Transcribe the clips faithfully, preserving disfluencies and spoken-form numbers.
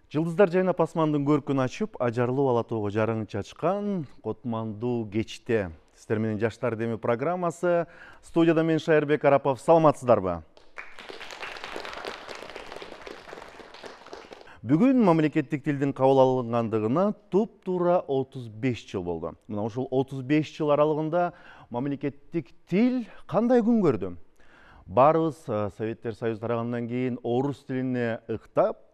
Жылдыздар жайнап асмандын көркүн ачып, ажарлуу ала тоого жарыгын чачкан котмандуу кечте. Сиздер менен Жаштар деми программасы. Студияда мен Шайырбек Арапов. Саламатсыздарбы? Бүгүн мамлекеттик тилдин кабыл алынгандыгына туп-туура отуз беш жыл болду. Мына ушул отуз беш жыл аралыгында мамлекеттик тил кандай күн көрдү? Барыбыз Советтер Союзу тарагандан кийин орус тилине ыктап,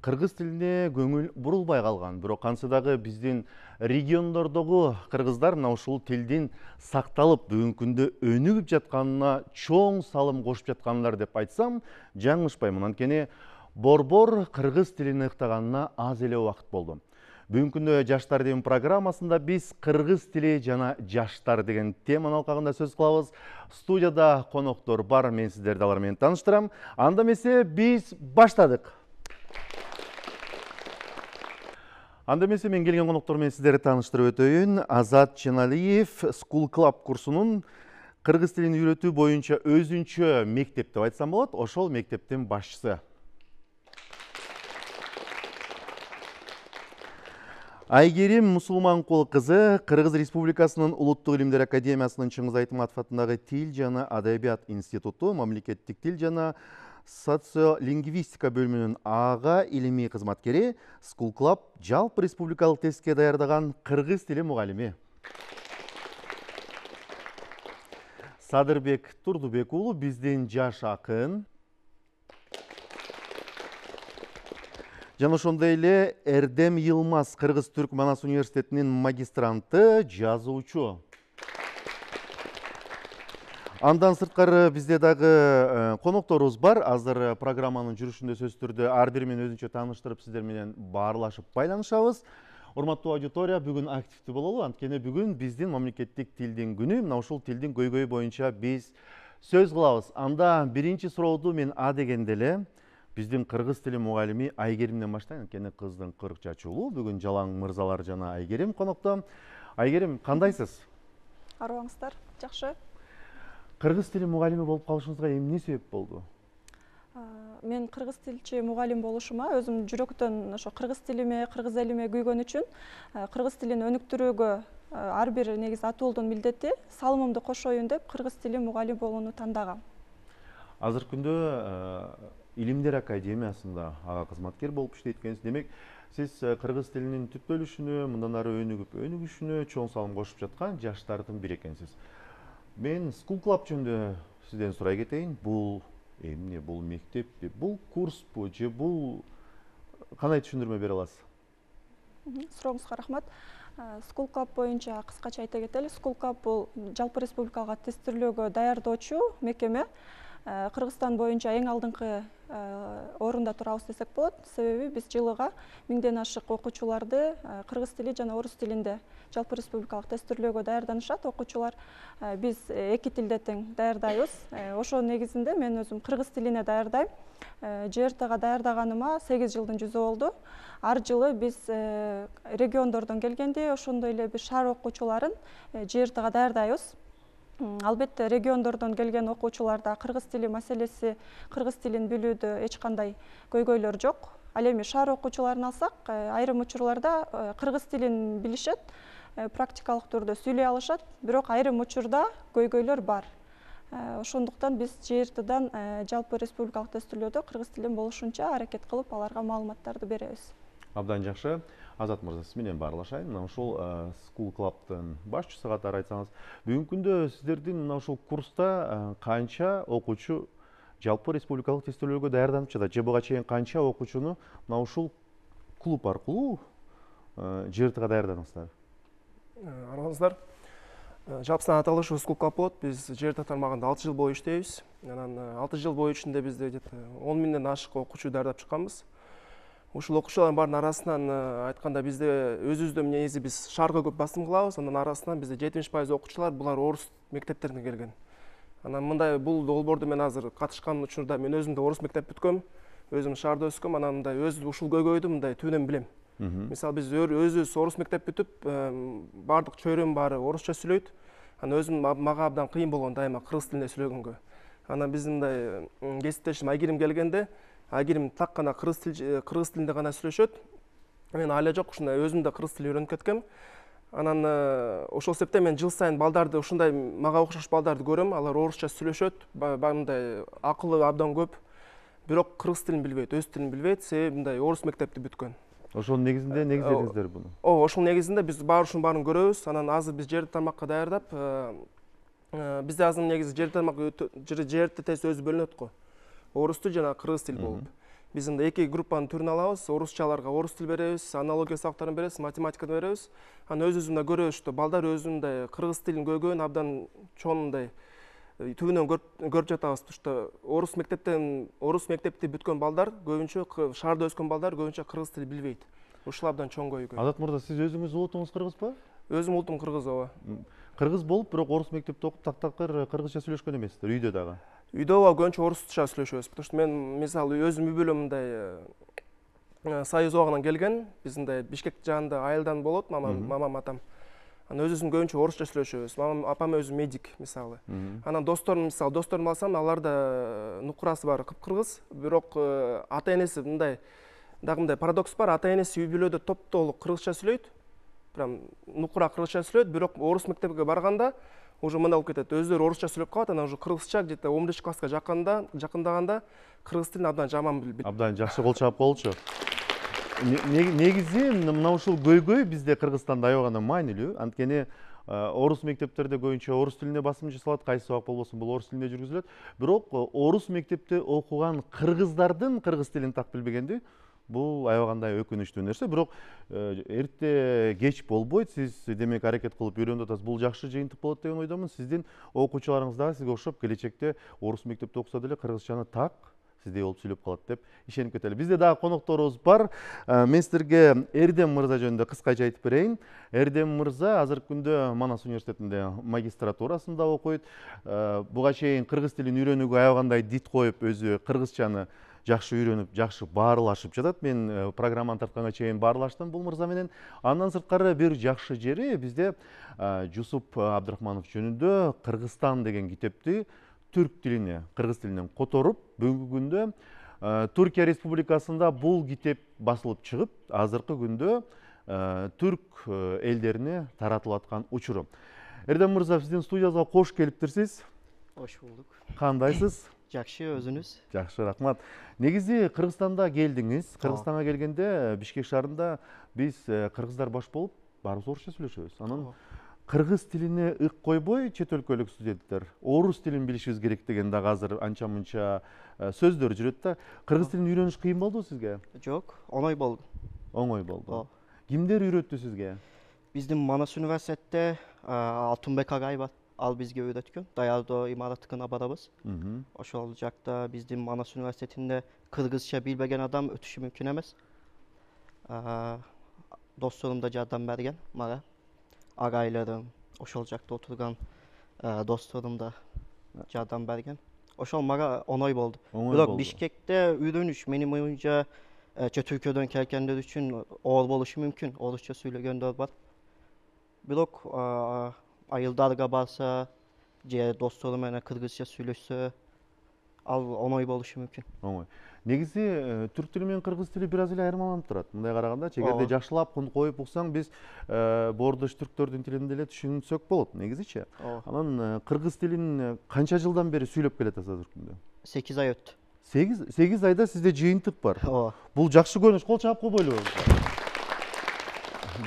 кыргыз тилине көңүл бурулбай калган. Бирок кантсе дагы биздин региондордогу кыргыздар мына ушул тилдин сакталып, бүгүнкү күндө өнүгүп жатканына чоң салым кошуп жаткандар деп айтсам, жаңылышпайм. Анткени борбор кыргыз тилин ыктаганына аз эле убакыт болду. Бүгүнкү күндө Жаштар деми программасында биз кыргыз тили жана жаштар деген теманын алкагында сөз кылабыз. Студияда коноктор бар, мен сиздерди алар менен тааныштырам. Анда эмесе биз баштадык. Анда эмесе мен келген коноктор менен сиздерди тааныштырып өтөйүн. Азат Ченалиев School Club курсунун кыргыз тилин үйрөтүү боюнча өзүнчө мектеп деп айтсам болот, ошол мектептин башчысы. Айгерим Мусулманкул кызы Кыргыз Республикасынын Улуттук илимдер академиясынын Чыңгыз Айтматов атындагы Тил жана Адабият институту мамлекеттик тил жана социолингвистика бөлүмүнүн ага илимий кызматкери, School Club жалпы республикалык тестке даярдаган кыргыз тили мугалими. Садырбек Турдубек уулу биздин жаш акын. Жана ошондой эле Эрдем Йылмаз Кыргыз-Түрк Манас университетинин магистранты, жазуучу. Андан сырткары бизде дагы конокторубуз бар. Азыр программанын жүрүшүндө сөзсүз түрдө ар бири менен өзүнчө тааныштырып, сиздер менен баарлашып байланышабыз. Урматтуу аудитория, бүгүн активдүү бололу, анткени бүгүн биздин мамлекеттик тилдин күнү. Мына ушул тилдин көйгөйү боюнча биз сөз кылабыз. Анда биринчи сурооду мен А дегенде эле биздин кыргыз тили мугалими Айгеримден баштайын, анткени кыздын кырк чачуулуу. Бүгүн Жалаң мырзалар жана Айгерим конокто. Айгерим, кандайсыз? Арыбаңыздар, жакшы. Кыргыз тили мугалими болуп калышыңызга эмне себеп болду? Мен кыргыз тилчи мугалим болушума өзүм жүрөктөн ошо кыргыз тилиме, кыргыз элиме күйгөн үчүн кыргыз тилин өнүктүрүүгө ар бир негизи атуулдун милдети салымымды кошоюн деп кыргыз тили мугалим болууну тандагам. Азыркы күндө Илимдер академиясында ага кызматкер болуп иштейт экенсиз. Демек, сиз кыргыз тилинин түптөлүшүнө, мындан ары өнүгүп өнүгүшүнө чоң салым кошуп жаткан жаштардын бири экенсиз. Мен School Club жөнүндө сизден сурай кетейин. Бул эмне? Бул мектеппи? Бул курспу? Же бул кандай түшүндүрмө бере аласыз? Сурооңузга рахмат. School Club боюнча кыскача айта кетели. School Club бул жалпы республикага тестирлөөгө даярдоочу мекеме. Кыргызстан боюнча эң алдыңкы орунда турабыз десек болот. Себеби биз жылыга миңден ашык окуучуларды кыргыз тили жана орус тилинде жалпы республикалык тестирлөөгө даярданышат окуучулар. Биз эки тилде тең даярдайбыз. Ошо негизинде мен өзүм кыргыз тилине даярдайм. Ж Р Тга даярдаганыма сегиз жылдын жүзү болду. Ар жылы биз региондордон келгенде, ошондой эле биз шаар окуучуларын Ж Р Тга даярдайбыз. Албетте региондордон келген окуучуларда кыргыз тили маселеси, кыргыз тилин билүүдө эч кандай көйгөйлөр жок. Ал эми шаар окуучуларын алсак, айрым учурларда кыргыз тилин билишет, практикалык түрдө сүйлөй алышат, бирок айрым учурда көйгөйлөр бар. Ошондуктан биз Ж Р Тдан жалпы республикалык тестирлөөдө кыргыз тилин болушунча аракет кылып, аларга маалыматтарды беребиз. Абдан жакшы. Азат мырза, сиз менен баарлашайын. Мына ушул School Club'тын башчысы катары айтсаңыз, бүгүнкү күндө сиздердин мына ушул курста канча окуучу жалпы республикалык тестирлөөгө даярданып жатат? Же буга чейин канча окуучуну мына ушул клуб аркылуу Ж Р Тга даярдадыңыздар? Арыңыздар. Жалпы санат алышы School Club болот. Биз Ж Р Т тармагында алты жыл бою иштейбиз. Анан алты жыл бою ичинде бизде он миңден ашык окуучу даярдап чыкканбыз. Ушул окуучулардын баарынын арасынан айтканда бизде өзүбүздө негизи биз шаарга көп басым кылабыз. Андан арасынан бизде жетимиш пайыз окуучулар булар орус мектептеринен келген. Анан мындай бул долбоорду мен азыр катышкан учурда мен өзүм да орус мектеп бүткөм, өзүм шаарда өскөм, анан мындай өз ушул көйгөйдү мындай түбүнөн билем. Мисалы биз өзүбүз орус мектеп бүтүп, баардык чөйрөм баары орусча сүйлөйт. Анан өзүм мага абдан кыйын болгон дайыма кыргыз тилинде сүйлөгөнгө. Анан биздин мындай кесиптешим Айгерим келгенде А эгер так гана кыргыз тил кыргыз тилинде гана сүйлөшөт, мен айла жок ушундай өзүм да кыргыз тилин үйрөнүп кеткем. Анан ошол себептен мен жыл сайын балдарды, ушундай мага окшош балдарды көрөм. Алар орусча сүйлөшөт, мындай акылы абдан көп. Бирок кыргыз тилин билбейт, өз тилин билбейт, себеби мындай орус мектепти бүткөн. Ошонун негизинде негиздедиңиздер буну. Ооба, ошонун негизинде биз баары ушунун баарын көрөбүз. Анан азыр биз жерди тармакка даярдап, бизде азыр негизи жерди тармак жерди тест өзү бөлүнөт го. Орус тил жана кыргыз тил болуп. Биз мында эки группанын түрүн алабыз. Орусчаларга орус тил беребиз, аналогия сабактарын беребиз, математиканы беребиз. Анан өзүбүз көрөбүз, что балдар өзүндөй кыргыз тилин көйгөн абдан чоңундай түбүнөн көрүп жатабыз, что орус мектептен орус мектепти бүткөн балдар көбүнчө, шаарда өскөн балдар көбүнчө кыргыз тилин билбейт. Ушул абдан чоң көйгөй. Азат мырза, сиз өзүңүз улутуңуз кыргызбы? Өзүм улутум кыргыз, ооба. Кыргыз болуп, бирок орус мектепте окуп тактакыр кыргызча сүйлөшкөн эмессиздер, үйдө дагы? Үйдө ооба көбүнчө орусча сүйлөшөбүз. Потому что мен мисалы өзүм үй бүлөм мындай Союз убагынан келген. Биз мындай Бишкек жагында айылдан болот, мамам, мамам, атам. Анан өзүбүздүн көбүнчө орусча сүйлөшөбүз. Мамам, апам өзү медик мисалы. Анан досторум, мисалы досторумду алсам, аларда нукурасы бар кыпкыргыз, бирок ата энеси мындай дагы мындай парадокс бар. Ата энеси үй бүлөдө топтолук кыргызча сүйлөйт. Прям нукура кыргызча сүйлөйт, бирок орус мектепке барганда уже мындай болуп кетет. Өздөрү орусча сүйлөп калат, анан уже кыргызча где-то он бешинчи класска жакында, жакындаганда кыргыз тилин абдан жаман билет. Абдан жакшы кол чаап болчу. Негизи мына ушул көйгөй бизде Кыргызстанда аябагана маанилүү. Анткени орус мектептерде көбүнчө орус тилине басым жасалат, кайсы сабак болбосун бул орус тилинде жүргүзүлөт. Бирок орус мектепте окуган кыргыздардын кыргыз тилин так билбегенди бул аябагандай өкүнүчтүү нерсе. Бирок эрте кеч болбойт. Сиз демек аракет кылып үйрөнүп атасыз. Бул жакшы жыйынтык болот деген ойдомун. Сиздин окуучуларыңыз дагы сизге окшоп келечекте орус мектепте окуса деле кыргызчаны так сиздей болуп сүйлөп калат деп ишенип кетели. Бизде дагы конокторубуз бар. Мен силерге Эрдем мырза жөнүндө кыскача айтып берейин. Эрдем мырза азыркы күндө Манас университетинде магистратурасында окуйт. Буга чейин кыргыз тилин үйрөнүүгө аябагандай дит коюп, өзү кыргызчаны жакшы үйрөнүп, жакшы баарлашып жатат. Мен программаны тартканга чейин баарлаштым бул мырза менен. Андан сырткары бир жакшы жери бизде Жусуп Абдрахманов жөнүндө Кыргызстан деген китепти түрк тилине, кыргыз тилинен которуп, бүгүнкү күндө Түркия Республикасында бул китеп басылып чыгып, азыркы күндө түрк элдерине таратылып аткан учуру. Эрдем мырза, биздин студиябызга кош келиптирсиз. Кош булдук. Кандайсыз? Жакшы, өзүнүз? Жакшы, рахмат. Негизи Кыргызстанда келдиңиз. Кыргызстанга келгенде Бишкек шаарында биз кыргыздар баш болуп, баарыбыз орусча сүйлөшөбүз. Анан кыргыз тилине ык койбой, чет өлкөлүк студенттер орус тилин билишибиз керек деген дагы азыр анча-мынча сөздөр жүрөт да. Кыргыз тилин үйрөнүш кыйын болдубу сизге? Жок, оңой болду. Оңой болду. Кимдер үйрөттү сизге? Биздин Манас университетте Алтынбек агай бар. Ал бизге үйрөткөн. Даярдоо имараттыкына барабыз. Ошол жакта биздин Манас университетинде кыргызча билбеген адам өтүшү мүмкүн эмес. Досторум да жардам берген мага. Агайларым, ошол жакта отурган досторум да жардам берген. Ошол мага оңой болду. Бирок Бишкекте үйрөнүш менин оюмча чет өлкөдөн келгендер үчүн оор болушу мүмкүн. Орусча сүйлөгөндөр бар. Бирок айылдарга барса, же достору менен кыргызча сүйлөшсө, ал оңой болушу мүмкүн. Оңой. Негизи түрк тили менен кыргыз тили бир аз эле айырмаланып турат. Мындай караганда, эгерде жакшылап коюп уксаң, биз боордош түрктөрдүн тилинде эле түшүнсөк болот, негизичи. Анан кыргыз тилин канча жылдан бери сүйлөп келатасыз азыркы күндө? сегиз ай өттү. сегиз айда сизде жыйынтык бар. Ооба. Бул жакшы көрүнүш, кол чаап койбойлу.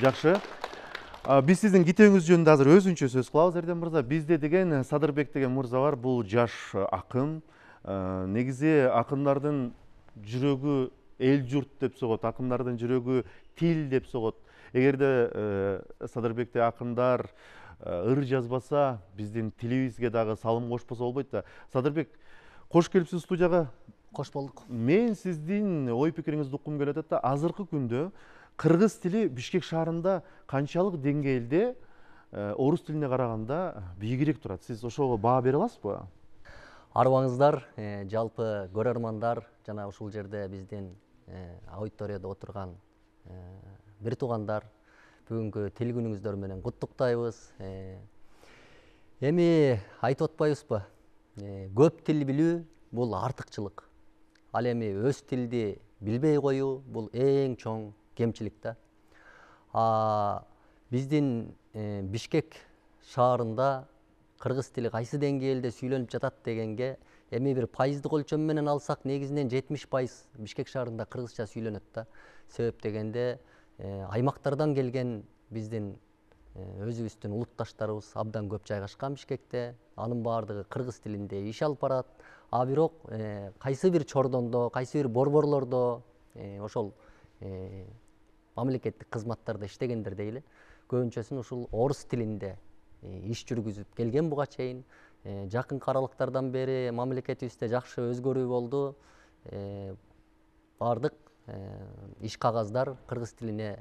Жакшы. Биз сиздин китебиңиз жөнүндө азыр өзүнчө сөз кылабыз, Эрдем мырза. Бизде деген Садырбек деген мырза бар. Бул жаш акын. Негизи акындардын жүрөгү эл журт деп согот, акындардын жүрөгү тил деп согот. Эгерде Садырбекте акындар ыр жазбаса, биздин тилибизге дагы салым кошпосо болбойт да. Садырбек, кош келипсиз студияга. Кош болдук. Мен сиздин ой пикириңизди уккум келип атат да, азыркы күндө кыргыз тили Бишкек шаарында канчалык деңгээлде орус тилине караганда бийигирээк турат? Сиз ошого баа бере аласызбы? Арыбаңыздар, жалпы көрөрмандар жана ушул жерде биздин аудиторияда отурган бир туугандар, бүгүнкү тил күнүңүздөр менен куттуктайбыз. Эми айтып атпайбызбы? Көп тил билүү бул артыкчылык. Ал эми өз тилди билбей коюу бул эң чоң кемчилик да. А биздин Бишкек шаарында кыргыз тили кайсы деңгээлде сүйлөнүп жатат дегенге эми бир пайыздык өлчөм менен алсак негизинен жетимиш пайыз Бишкек шаарында кыргызча сүйлөнөт да. Себеп дегенде аймактардан келген биздин өзүбүздүн улутташтарыбыз абдан көп жайгашкан Бишкекте, анын баардыгы кыргыз тилинде иш алып барат. А бирок кайсы бир чордондо, кайсы бир борборлордо ошол мамлекеттик кызматтарда иштегендер дейли, көбүнчөсүн ушул орус тилинде иш жүргүзүп келген буга чейин. Жакынкы аралыктардан бери мамлекетибизде жакшы өзгөрүү болду. Баардык иш кагаздар кыргыз тилине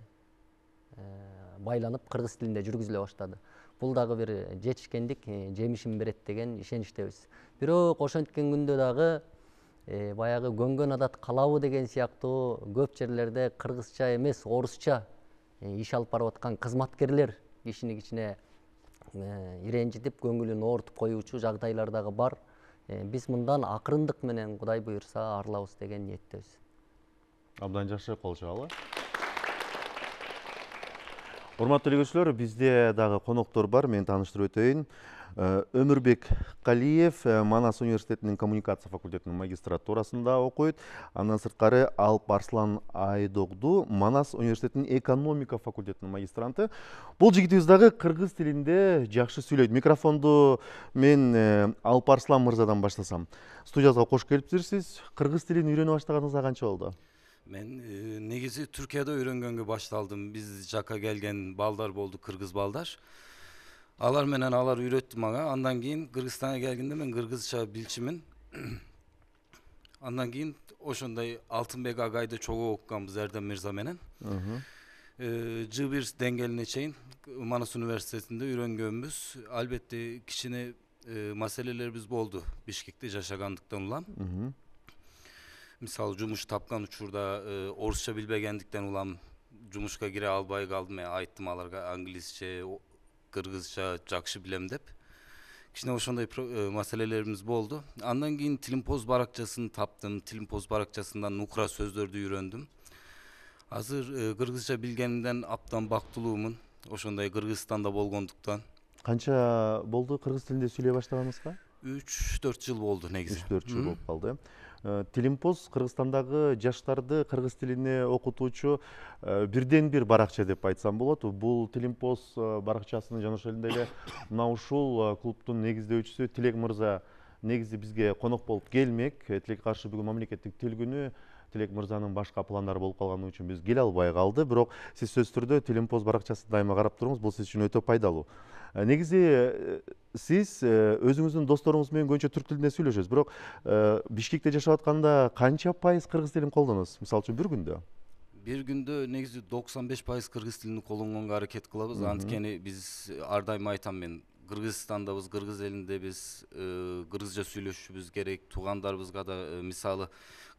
байланып, кыргыз тилинде жүргүзүлө баштады. Бул дагы бир жетишкендик жемишин берет деген ишеничтебиз. Бирок ошенткен күндө дагы баягы көнгөн адат калабы деген сыяктуу көп жерлерде кыргызча эмес, орусча иш алып барып аткан кызматкерлер кишини кичине иренжитип, көңүлүн оорутуп коюучу жагдайлар дагы бар. Биз мындан акырындык менен Кудай буйрса арылабыз деген ниеттебиз. Абдан жакшы, кол чабалы. Урматтуу элегүүчүлөр, бизде дагы коноктор бар. Мен тааныштырып өтөйүн. Өмүрбек Калиев Манас университетинин коммуникация факультетинин магистратурасында окуйт. Андан сырткары Алп Арслан Айдогду Манас университетинин экономика факультетинин магистранты. Бул жигитибиз дагы кыргыз тилинде жакшы сүйлөйт. Микрофонду мен Алп Арслан мырзадан баштасам. Студиябызга кош келипсиз. Кыргыз тилин үйрөнө баштаганыңызга канча болду? Мен негизи Түркияда үйрөнгөнгө башталдым. Биз жака келген балдар болду, кыргыз балдар. Алар менен алар үйрөттү мага. Андан кийин Кыргызстанга келгенде мен кыргызча билчимин. Андан кийин ошондой Алтынбек агайды чогуу окуганбыз Эрдем мырза менен. жэ бир деңгээлине чейин Манас университетинде үйрөнгөнбүз. Албетте кичине маселелерибиз болду Бишкекте жашагандыктан улам. Мисалы жумуш тапкан учурда орусча билбегендиктен улам жумушка кире албай калдым. Мен айттым аларга англисче, кыргызча жакшы билем деп. Кичине ошондой маселелерибиз болду. Андан кийин Тилимпоз баракчасын таптым. Тилимпоз баракчасынан нукра сөздөрдү үйрөндүм. Азыр кыргызча билгенимден абдан бактылуумун. Ошондой Кыргызстанда болгондуктан. Канча болду кыргыз тилинде сүйлөй баштаганыңызга? үч төрт жыл болду негизи. үч төрт жыл болуп калды. Тилимпоз Кыргызстандагы жаштарды кыргыз тилине окутуучу бирден бир баракча деп айтсам болот. Бул Тилимпоз баракчасынын жана ошол эле мына ушул клубдун негиздөөчүсү Тилек мырза негизи бизге конок болуп келмек. Тилекке каршы бүгүн мамлекеттик тил күнү. Тилек мырзанын башка пландары болуп калганы үчүн биз келе албай калды. Бирок сиз сөзсүз түрдө Тилимпоз баракчасын дайыма карап туруңуз. Бул сиз үчүн өтө пайдалуу. Негизи сиз өзүңүздүн досторуңуз менен көбүнчө түрк тилинде сүйлөшөсүз. Бирок Бишкекте жашап атканда канча пайыз кыргыз тилин колдоносуз? Мисалы үчүн бир күндө? Бир күндө негизи токсон беш пайыз кыргыз тилин колдонгонго аракет кылабыз. Анткени биз ар дайым айтам мен, Кыргызстандабыз, кыргыз элиндебиз, кыргызча сүйлөшүшүбүз керек. Туугандарыбызга да мисалы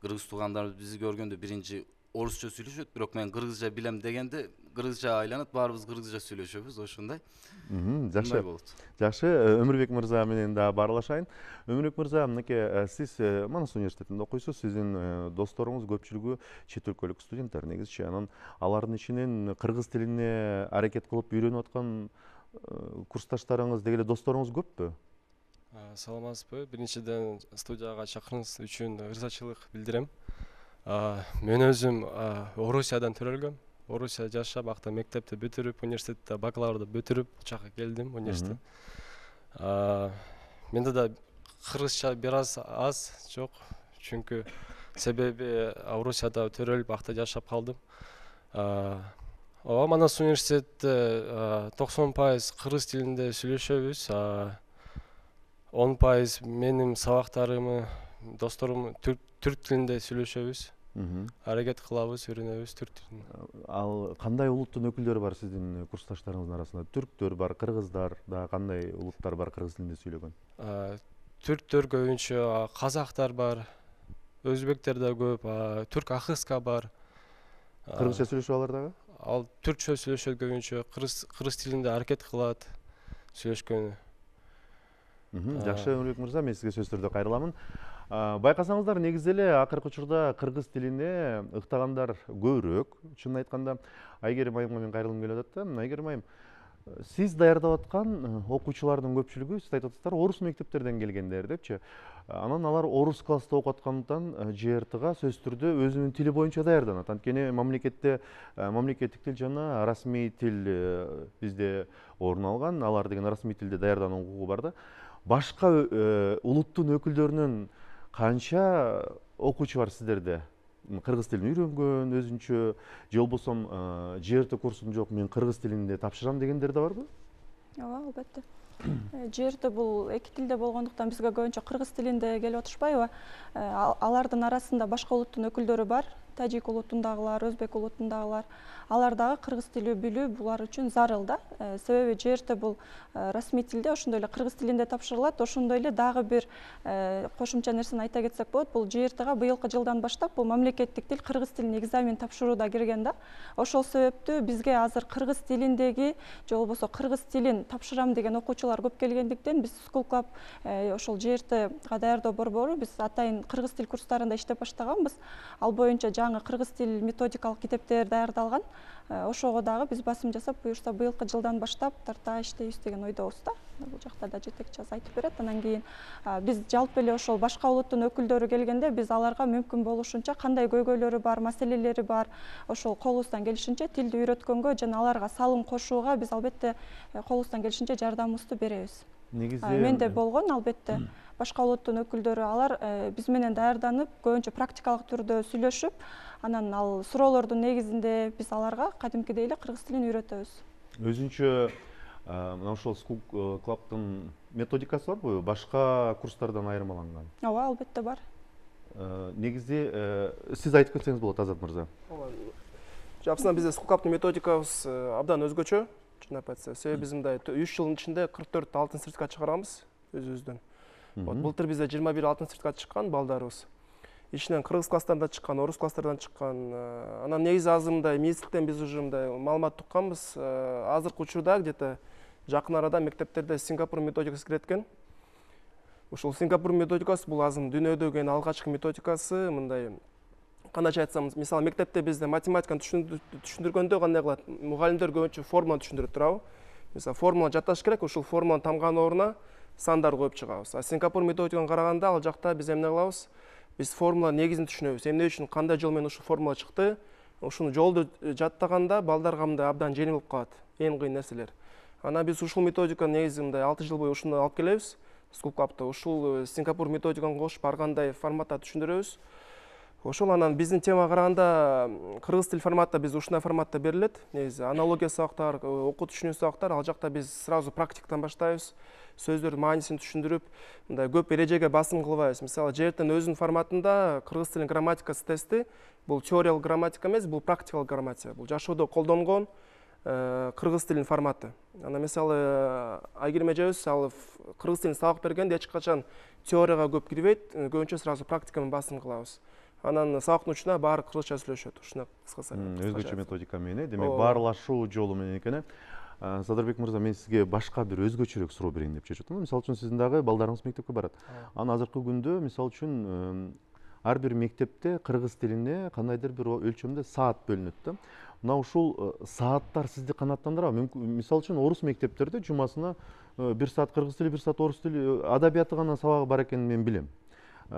кыргыз туугандарыбыз бизди көргөндө биринчи орусча сүйлөшөт, бирок мен кыргызча билем дегенде кыргызча айланат, баарыбыз кыргызча сүйлөшөбүз, ошондой. Жакшы. Жакшы, Өмүрбек мырза менен да баарлашайын. Өмүрбек мырза, мынакей сиз Манас университетинде окуйсуз. Сиздин досторуңуз көпчүлүгү чет өлкөлүк студенттер негизичи. Анан алардын ичинен кыргыз тилине аракет кылып үйрөнүп аткан курсташтарыңыз, деги эле досторуңуз көппү? Саламатсызбы? Биринчиден студияга чакырганыңыз үчүн ырзачылык билдирем. Мен өзүм Орусиядан төрөлгөм. Орусия жашап, акта мектепти бүтүрүп, университетте бакалаврды бүтүрүп, чака келдим университет. Менде да кыргызча бир аз аз жок, чүнкү себеби Орусияда төрөлүп, акта жашап калдым. Ооба, Манас университетте токсон пайыз кыргыз тилинде сүйлөшөбүз. он пайыз менин сабактарымы, досторум түрк тилинде сүйлөшөбүз. Аракет кылабыз, үйрөнөбүз түрк тилин. Ал кандай улуттун өкүлдөрү бар сиздин курсташтарыңыздын арасында? Түрктөр бар, кыргыздар да, кандай улуттар бар кыргыз тилинде сүйлөгөн? Түрктөр көбүнчө, казактар бар, өзбектер да көп, түрк ахыска бар. Кыргызча сүйлөшөбү алар дагы? Ал түркчө сүйлөшөт көбүнчө, кыргыз тилинде аракет кылат сүйлөшкөнү. Жакшы, Өмүрбек мырза, мен сизге сөздөрдө кайрыламын. Байкасаңыздар, негизи эле акыркы учурда кыргыз тилине ыктагандар көбүрөөк. Чынын айтканда, Айгерим айымга мен кайрылгым келип атат да. Айгерим айым, сиз даярдап аткан окуучулардын көпчүлүгү, сиз айтып атасыздар, орус мектептерден келгендер депчи. Анан алар орус класста окуп аткандыктан жэ эр тыга сөзсүз түрдө өзүнүн тили боюнча даярданат. Анткени мамлекетте мамлекеттик тил жана расмий тил бизде орун алган. Алар деген расмий тилде даярдануу укугу бар да. Башка улуттун өкүлдөрүнөн канча окуучу бар сиздерде? Кыргыз тилин үйрөнгөн, өзүнчө, же болбосо жэ эр тэ курсум жок, мен кыргыз тилинде тапшырам дегендер да барбы? Ооба, албетте. жэ эр тэ бул эки тилде болгондуктан бизге көбүнчө кыргыз тилинде келип отурушпайбы? Алардын арасында башка улуттун өкүлдөрү бар. Тажик улутундагылар, өзбек улутундагылар. Алар дагы кыргыз тили билүү булар үчүн зарыл да. Себеби жэ эр тэ бул расмий тилде, ошондой эле кыргыз тилинде тапшырылат. Ошондой эле дагы бир кошумча нерсени айта кетсек болот. Бул жэ эр тэга быйылкы жылдан баштап бул мамлекеттик тил кыргыз тилине экзамен тапшырууда кирген да. Ошол себептүү бизге азыр кыргыз тилиндеги же болбосо кыргыз тилин тапшырам деген окуучулар көп келгендиктен биз School Club ошол жэ эр тэга даярдоо борбору биз атайын кыргыз тил курстарында иштеп баштаганбыз. Ал боюнча жаңы кыргыз тил методикалык китептер даярдалган. Ошого дагы биз басым жасап, буюрса быйылкы жылдан баштап тарта иштейбиз деген ойдобуз да. Бул жакта да жетекчи аз айтып берет. Анан кийин биз жалпы эле ошол башка улуттун өкүлдөрү келгенде биз аларга мүмкүн болушунча кандай көйгөйлөрү бар, маселелери бар, ошол колубуздан келишинче тилди үйрөткөнгө жана аларга салым кошууга биз албетте колубуздан келишинче жардамыбызды беребиз. Негизи менде болгон албетте башка улуттун өкүлдөрү алар биз менен даярданып, көбүнчө практикалык түрдө сүйлөшүп, анан ал суроолордун негизинде биз аларга кадимкидей эле кыргыз тилин үйрөтөбүз. Өзүнчө мына ошол School Club'дын методикасы барбы? Башка курстардан айырмаланган? Ооба, албетте бар. Негизи сиз айтып кетсеңиз болот, Азат мырза. Жапсынан бизде School Club'дын методикабыз абдан өзгөчө. Чындап айтсак, себеби биз мындай үч жылдын ичинде кырк төрт алтын сертификат чыгарганбыз өзүбүздөн. Былтыр бизде жыйырма бир алтын сертификат чыккан балдарыбыз. Ичинен кыргыз класстардан чыккан, орус класстардан чыккан. Анан негизи азыр мындай министрликтен биз уже мындай маалымат укканбыз. Азыркы учурда где-то жакын арада мектептерде Сингапур методикасы кирет экен. Ошол Сингапур методикасы бул азыр дүйнөдө келген алгачкы методикасы. Мындай кандайча айтсам, мисалы мектепте бизде математиканы түшүндүргөндө кандай кылат? Мугалимдер көбүнчө формуланы түшүндүрөт турабы? Мисалы формула жатташ керек, ошол формуланы тамган ордуна сандар коюп чыгабыз. А Сингапур методиканы караганда ал жакта биз эмне кылабыз? Биз формула негизин түшүнөбүз. Эмне үчүн кандай жол менен ушул формула чыкты? Ушуну жолду жаттаганда балдарга мындай абдан жеңил болуп калат, эң кыйын нерселер. Анан биз ушул методиканы негизи мындай алты жыл бою ушуну алып келебиз. School Club'да ушул Сингапур методиканы кошуп ар кандай форматта түшүндүрөбүз. Ошол анан биздин темага караганда кыргыз тил форматта биз ушундай форматта берилет. Негизи аналогия сабактар, окуу түшүнүү сабактар, ал жакта биз сразу практикадан баштайбыз. Сөздөрдүн маанисин түшүндүрүп, мындай көп эрежеге басым кылбайбыз. Мисалы, жэ эр тэ өзүнүн форматында кыргыз тилинин грамматикасы тести бул теориялык грамматика эмес, бул практикалык грамматика. Бул жашоодо колдонгон кыргыз тилинин форматы. Анан мисалы Айгерим эжебиз ал кыргыз тилин сабак бергенде эч качан теорияга көп кирбейт, көбүнчө сразу практика менен басым кылабыз. Анан сабактын учуна баары кыргызча сүйлөшөт. Ушуна кыскасы. Өзгөчө методика менен, демек баарлашуу жолу менен экен. Садырбек мырза, мен сизге башка бир өзгөчөрөөк суроо берейин деп чечип атам. Мисалы үчүн сиздин дагы балдарыңыз мектепке барат. Анан азыркы күндө мисалы үчүн ар бир мектепте кыргыз тилине кандайдыр бир өлчөмдө саат бөлүнөт да. Мына ушул сааттар сизди канааттандырабы? Мисалы үчүн орус мектептерде жумасына бир саат кыргыз тили, бир саат орус тили, адабияты гана сабагы бар экенин мен билем.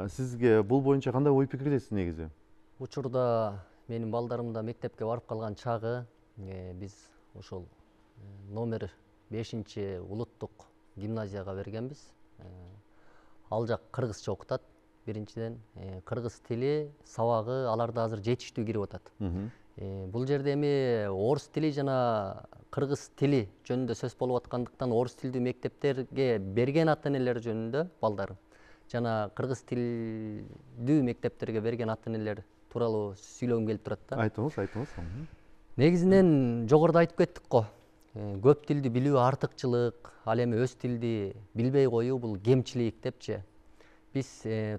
Сизге бул боюнча кандай ой пикирдесиз негизи? Учурда менин балдарым да мектепке барып калган чагы биз ошол номер бешинчи улуттук гимназияга бергенбиз. Ал жак кыргызча окутат. Биринчиден кыргыз тили сабагы аларда азыр жетиштүү кирип атат. Бул жерде эми орус тили жана кыргыз тили жөнүндө сөз болуп аткандыктан орус тилдүү мектептерге берген ата энелер жөнүндө балдарым жана кыргыз тилдүү мектептерге берген ата энелер тууралуу сүйлөгүм келип турат да. Айтыңыз, айтыңыз. Негизинен жогоруда айтып кеттик го. Көп тилди билүү артыкчылык, ал эми өз тилди билбей коюу бул кемчилик депчи. Биз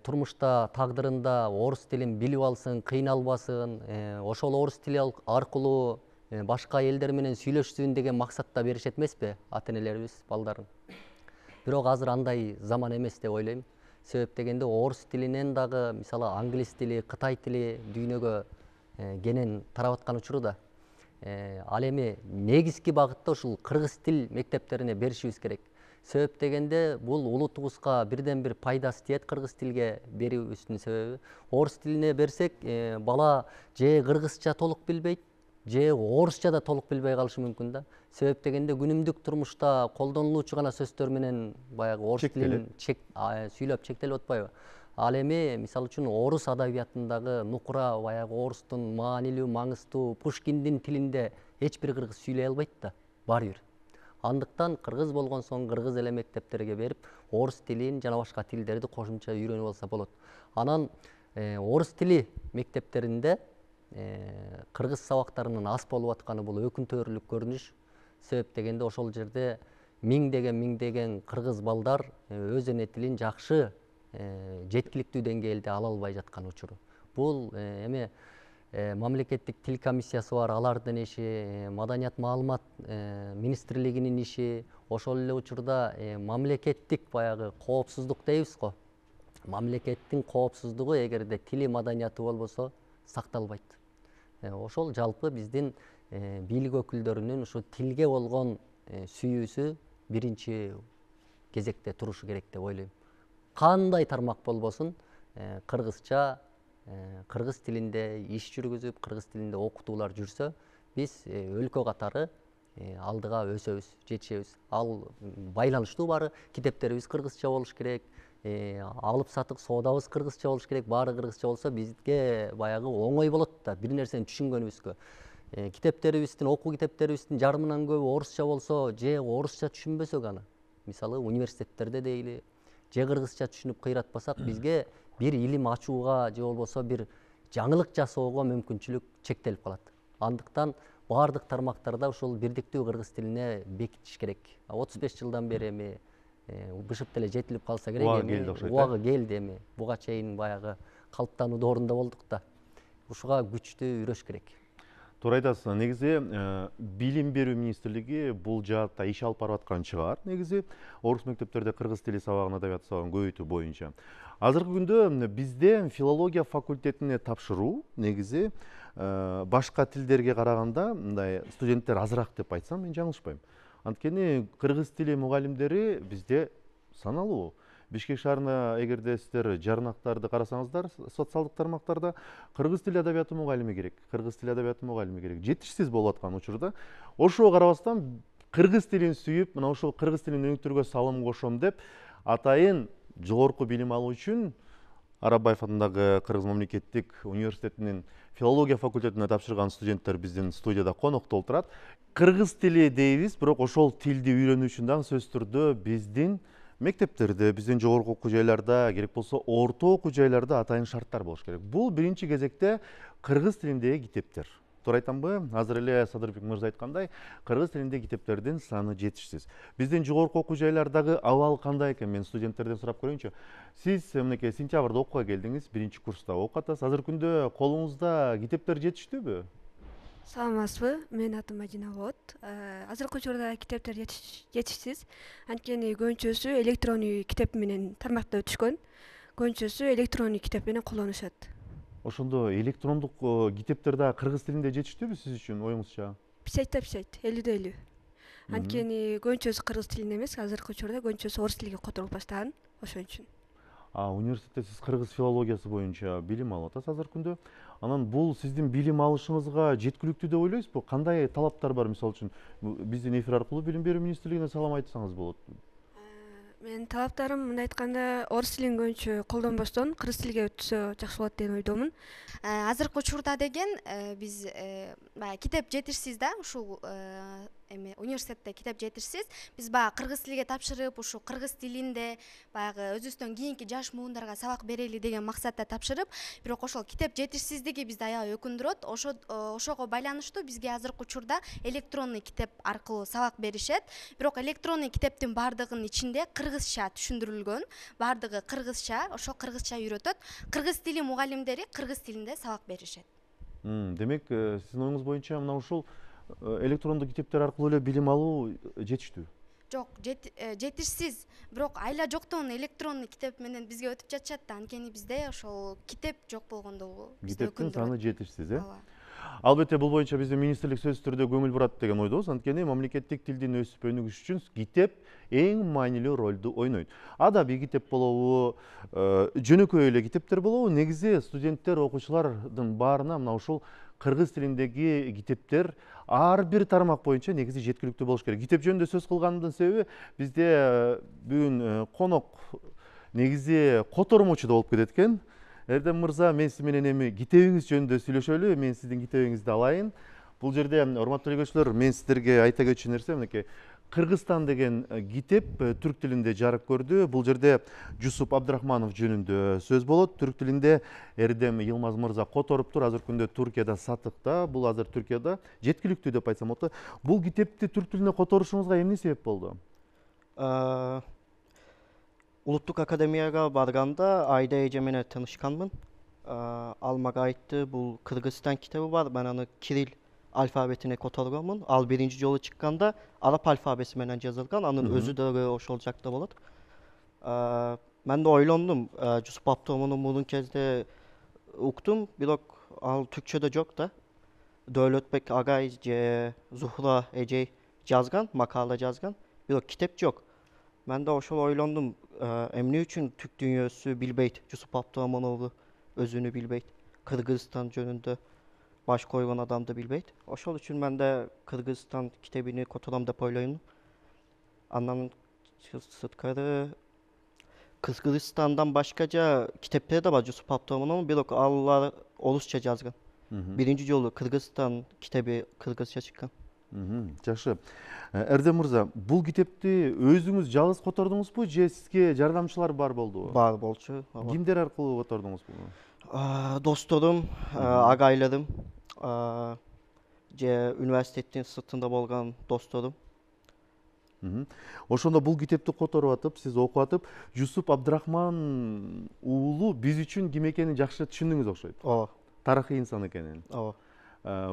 турмушта тагдырында орус тилин билип алсын, кыйналбасын, ошол орус тили аркылуу башка элдер менен сүйлөшсүн деген максатта беришет эмеспи ата энелерибиз балдарын. бирок азыр андай заман эмес деп ойлойм. Себеп дегенде орус тилинен дагы мисалы англис тили, кытай тили дүйнөгө кенен тарап аткан учурда ал эми негизги багытта ушул кыргыз тил мектептерине беришибиз керек. Себеп дегенде бул улутубузга бирден бир пайдасы тиет кыргыз тилге берүүбүздүн себеби. Орус тилине берсек, бала же кыргызча толук билбейт, же орусча да толук билбей калышы мүмкүн да. Себеп дегенде күнүмдүк турмушта колдонулуучу гана сөздөр менен баягы орус тилин сүйлөп чектелип атпайбы? Ал эми мисалы үчүн орус адабиятындагы нукура баягы орустун маанилүү, маңыздуу Пушкиндин тилинде эч бир кыргыз сүйлөй албайт да, баары бир. Андыктан кыргыз болгон соң кыргыз эле мектептерге берип, орус тилин жана башка тилдерди кошумча үйрөнүп алса болот. Анан орус тили мектептеринде кыргыз сабактарынын аз болуп атканы бул өкүнтөрлүк көрүнүш. Себеп дегенде ошол жерде миңдеген миңдеген кыргыз балдар өз эне тилин жакшы жеткиликтүү деңгээлде ала албай жаткан учуру. Бул эми мамлекеттик тил комиссиясы бар, алардын иши, маданият маалымат министрлигинин иши, ошол эле учурда мамлекеттик баягы коопсуздук дейбиз го. Мамлекеттин коопсуздугу эгерде тили маданияты болбосо сакталбайт. Ошол жалпы биздин бийлик өкүлдөрүнүн ушу тилге болгон сүйүүсү биринчи кезекте турушу керек деп ойлойм. Кандай тармак болбосун, кыргызча, кыргыз тилинде иш жүргүзүп, кыргыз тилинде окутуулар жүрсө, биз өлкө катары алдыга өсөбүз, жетишебиз. Ал байланыштуу баары, китептерибиз кыргызча болуш керек, алып сатык соодабыз кыргызча болуш керек, баары кыргызча болсо бизге баягы оңой болот да бир нерсени түшүнгөнүбүзгө. Китептерибиздин, окуу китептерибиздин жарымынан көбү орусча болсо, же орусча түшүнбөсөк аны, мисалы университеттерде дейли, же кыргызча түшүнүп кыйратпасак, бизге бир илим ачууга же болбосо бир жаңылык жасоого мүмкүнчүлүк чектелип калат. Андыктан баардык тармактарда ушул бирдиктүү кыргыз тилине бекитиш керек. отуз беш жылдан бери эми бышып деле жетилип калса керек, эми убагы келди, эми буга чейин баягы калыптануу доорунда болдук да. Ушуга күчтүү үрөш керек. Туура айтасыз. Негизи билим берүү министрлиги бул жаатта иш алып барып аткан чыгар. Негизи орус мектептерде кыргыз тили сабагын, адабият сабагын көбөйтүү боюнча. Азыркы күндө бизде филология факультетине тапшыруу негизи башка тилдерге караганда мындай студенттер азыраак деп айтсам, мен жаңылышпайм. Анткени кыргыз тили мугалимдери бизде саналуу. Бишкек шаарына эгерде сиздер жарнактарды карасаңыздар, социалдык тармактарда кыргыз тили адабияты мугалими керек, кыргыз тили адабияты мугалими керек. Жетишсиз болуп аткан учурда, ошого карабастан кыргыз тилин сүйүп, мына ошол кыргыз тилин өнүктүрүүгө салым кошом деп, атайын жогорку билим алуу үчүн Арабаев атындагы Кыргыз мамлекеттик университетинин филология факультетине тапшырган студенттер биздин студияда конокто отурат. Кыргыз тили дейбиз, бирок ошол тилди үйрөнүү үчүн дагы сөзсүз түрдө биздин мектептерде, биздин жогорку окуу жайларда, керек болсо орто окуу жайларда атайын шарттар болуш керек. Бул биринчи кезекте кыргыз тилиндеги китептер. Туура айтамбы? Азыр эле Садырбек мырза айткандай, кыргыз тилиндеги китептердин саны жетишсиз. Биздин жогорку окуу жайлардагы абал кандай экен? Мен студенттерден сурап көрөйүнчү. Сиз мынакей сентябрда окууга келдиңиз, биринчи курста окуп атасыз. Азыркы күндө колуңузда китептер жетиштүүбү? Саламатсызбы? Менин атым Мадина болот. Азыркы учурда китептер жетишсиз. Анткени көбүнчөсү электрондуу китеп менен тармакта өтүшкөн. Көбүнчөсү электрондуу китеп менен колдонушат. Ошондо электрондук китептер дагы кыргыз тилинде жетиштүүбү сиз үчүн, оюңузча? Пичать пичать, элүүдө элүү. Анткени көбүнчөсү кыргыз тилинде эмес, азыркы учурда көбүнчөсү орус тилге которулуп баштаган, ошон үчүн. А университетте сиз кыргыз филологиясы боюнча билим алып атасыз азыркы күндө. Анан бул сиздин билим алышыңызга жеткиликтүү деп ойлойсузбу? Кандай талаптар бар, мисалы үчүн биздин эфир аркылуу билим берүү министрлигине салам айтсаңыз болот. Менин талаптарым мындай айтканда, орус тилин көбүнчө колдонбостон кыргыз тилге өтсө жакшы болот деген ойдомун. Азыркы учурда деген биз баягы китеп жетишсиз да, ушул эми университетте китеп жетишсиз. Биз баягы кыргыз тилге тапшырып, ушу кыргыз тилинде баягы өзүбүздөн кийинки жаш муундарга сабак берели деген максатта тапшырып, бирок ошол китеп жетишсиздиги бизди аябай өкүндүрөт. Ошо ошого байланыштуу бизге азыркы учурда электронный китеп аркылуу сабак беришет. Бирок электронный китептин баардыгынын ичинде кыргызча түшүндүрүлгөн, баардыгы кыргызча, ошол кыргызча үйрөтөт. Кыргыз тили мугалимдери кыргыз тилинде сабак беришет. Демек, сиздин оюңуз боюнча мына ушул электрондук китептер аркылуу эле билим алуу жетиштүү. жок жетишсиз, бирок айла жоктон электронный китеп менен бизге өтүп жатышат да, анткени бизде ошол китеп жок болгондугу бизди китептин өкүндүрөт. саны жетишсиз, э? Ооба. Албетте бул боюнча биздин министрлик сөзсүз түрдө көңүл бурат деген ойдобуз. Анткени мамлекеттик тилдин өсүп өнүгүшү үчүн китеп эң маанилүү ролду ойнойт. Адабий китеп болобу, жөнөкөй эле китептер болобу, негизи студенттер, окуучулардын баарына мына ушул кыргыз тилиндеги китептер ар бир тармак боюнча негизи жеткиликтүү болуш керек. Китеп жөнүндө сөз кылганымдын себеби бизде бүгүн конок негизи котормочу да болуп кетет экен. Эрдем мырза, мен сиз менен эми китебиңиз жөнүндө сүйлөшөлү, мен сиздин китебиңизди алайын. Бул жерде урматтуу көрүүчүлөр, мен сиздерге айта кетчү нерсе мынакей. Кыргызстан деген китеп түрк тилинде жарык көрдү. Бул жерде Жусуп Абдрахманов жөнүндө сөз болот. Түрк тилинде Эрдем Йылмаз мырза которуптур. Азыркы күндө Туркияда сатыкта. Бул азыр Туркияда жеткиликтүү деп айтсам болот. Бул китепти түрк тилине которушуңузга эмне себеп болду? Улуттук академияга барганда Айда эже менен таанышканмын. Ал мага айтты, бул Кыргызстан китеби бар, мен аны кирилл алфавитине которгонмун. Ал биринчи жолу чыкканда араб алфависи менен жазылган, анын өзү дагы ошол жакта болот. Мен да ойлондум, Жусуп Абдрахманов мурун кезде уктум, бирок ал түркчөдө жок да. Дөөлөтбек агай же Зухра эжей жазган, макала жазган, бирок китеп жок. Мен да ошол ойлондум, эмне үчүн түрк дүйнөсү билбейт, Жусуп Абдрахмановду өзүнү билбейт, Кыргызстан жөнүндө баш койгон адамды билбейт. Ошол үчүн мен да Кыргызстан китебини котором деп ойлойм. Андан сырткары Кыргызстандан башка жа китептер да бар Жусуп Абдрахманов, бирок алар орусча жазган. Биринчи жолу Кыргызстан китеби кыргызча чыккан. Жакшы. Эрдем мырза, бул китепти өзүңүз жалгыз котордуңузбу же сизге жардамчылар бар болдубу? Бар болчу. Кимдер аркылуу котордуңуз буну? Досторум, агайларым, же университеттин сыртында болгон досторум. Ошондо бул китепти которуп атып, сиз окуп атып, Жусуп Абдрахман уулу биз үчүн ким экенин жакшы түшүндүңүз окшойт. Ооба. Тарыхый инсан экенин. Ооба.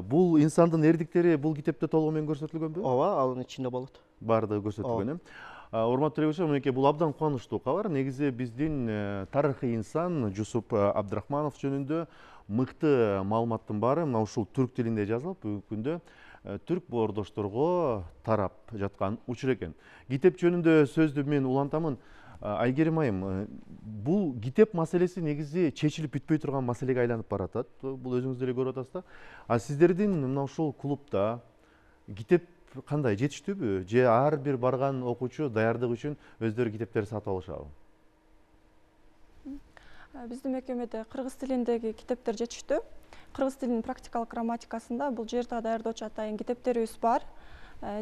Бул инсандын эрдиктери бул китепте толугу менен көрсөтүлгөнбү? Ооба, анын ичинде болот. Баардыгы көрсөтүлгөн, э? Урматтуу көрүүчүлөр, мынакей бул абдан кубанычтуу кабар. Негизи биздин тарыхый инсан Жусуп Абдрахманов жөнүндө мыкты маалыматтын баары мына ушул түрк тилинде жазылып, бүгүнкү күндө түрк боордошторго тарап жаткан учур экен. Китеп жөнүндө сөздү мен улантамын. Айгерим айым, бул китеп маселеси негизи чечилип бүтпөй турган маселеге айланып баратат. Бул өзүңүз деле көрүп атасыз да. А сиздердин мына ушул клубда китеп кандай, жетиштүүбү? Же ар бир барган окуучу даярдык үчүн өздөрү китептерди сатып алышабы? Биздин мекемеде кыргыз тилиндеги китептер жетиштүү. Кыргыз тилинин практикалык грамматикасында бул жерде даярдоочу атайын китептерибиз бар.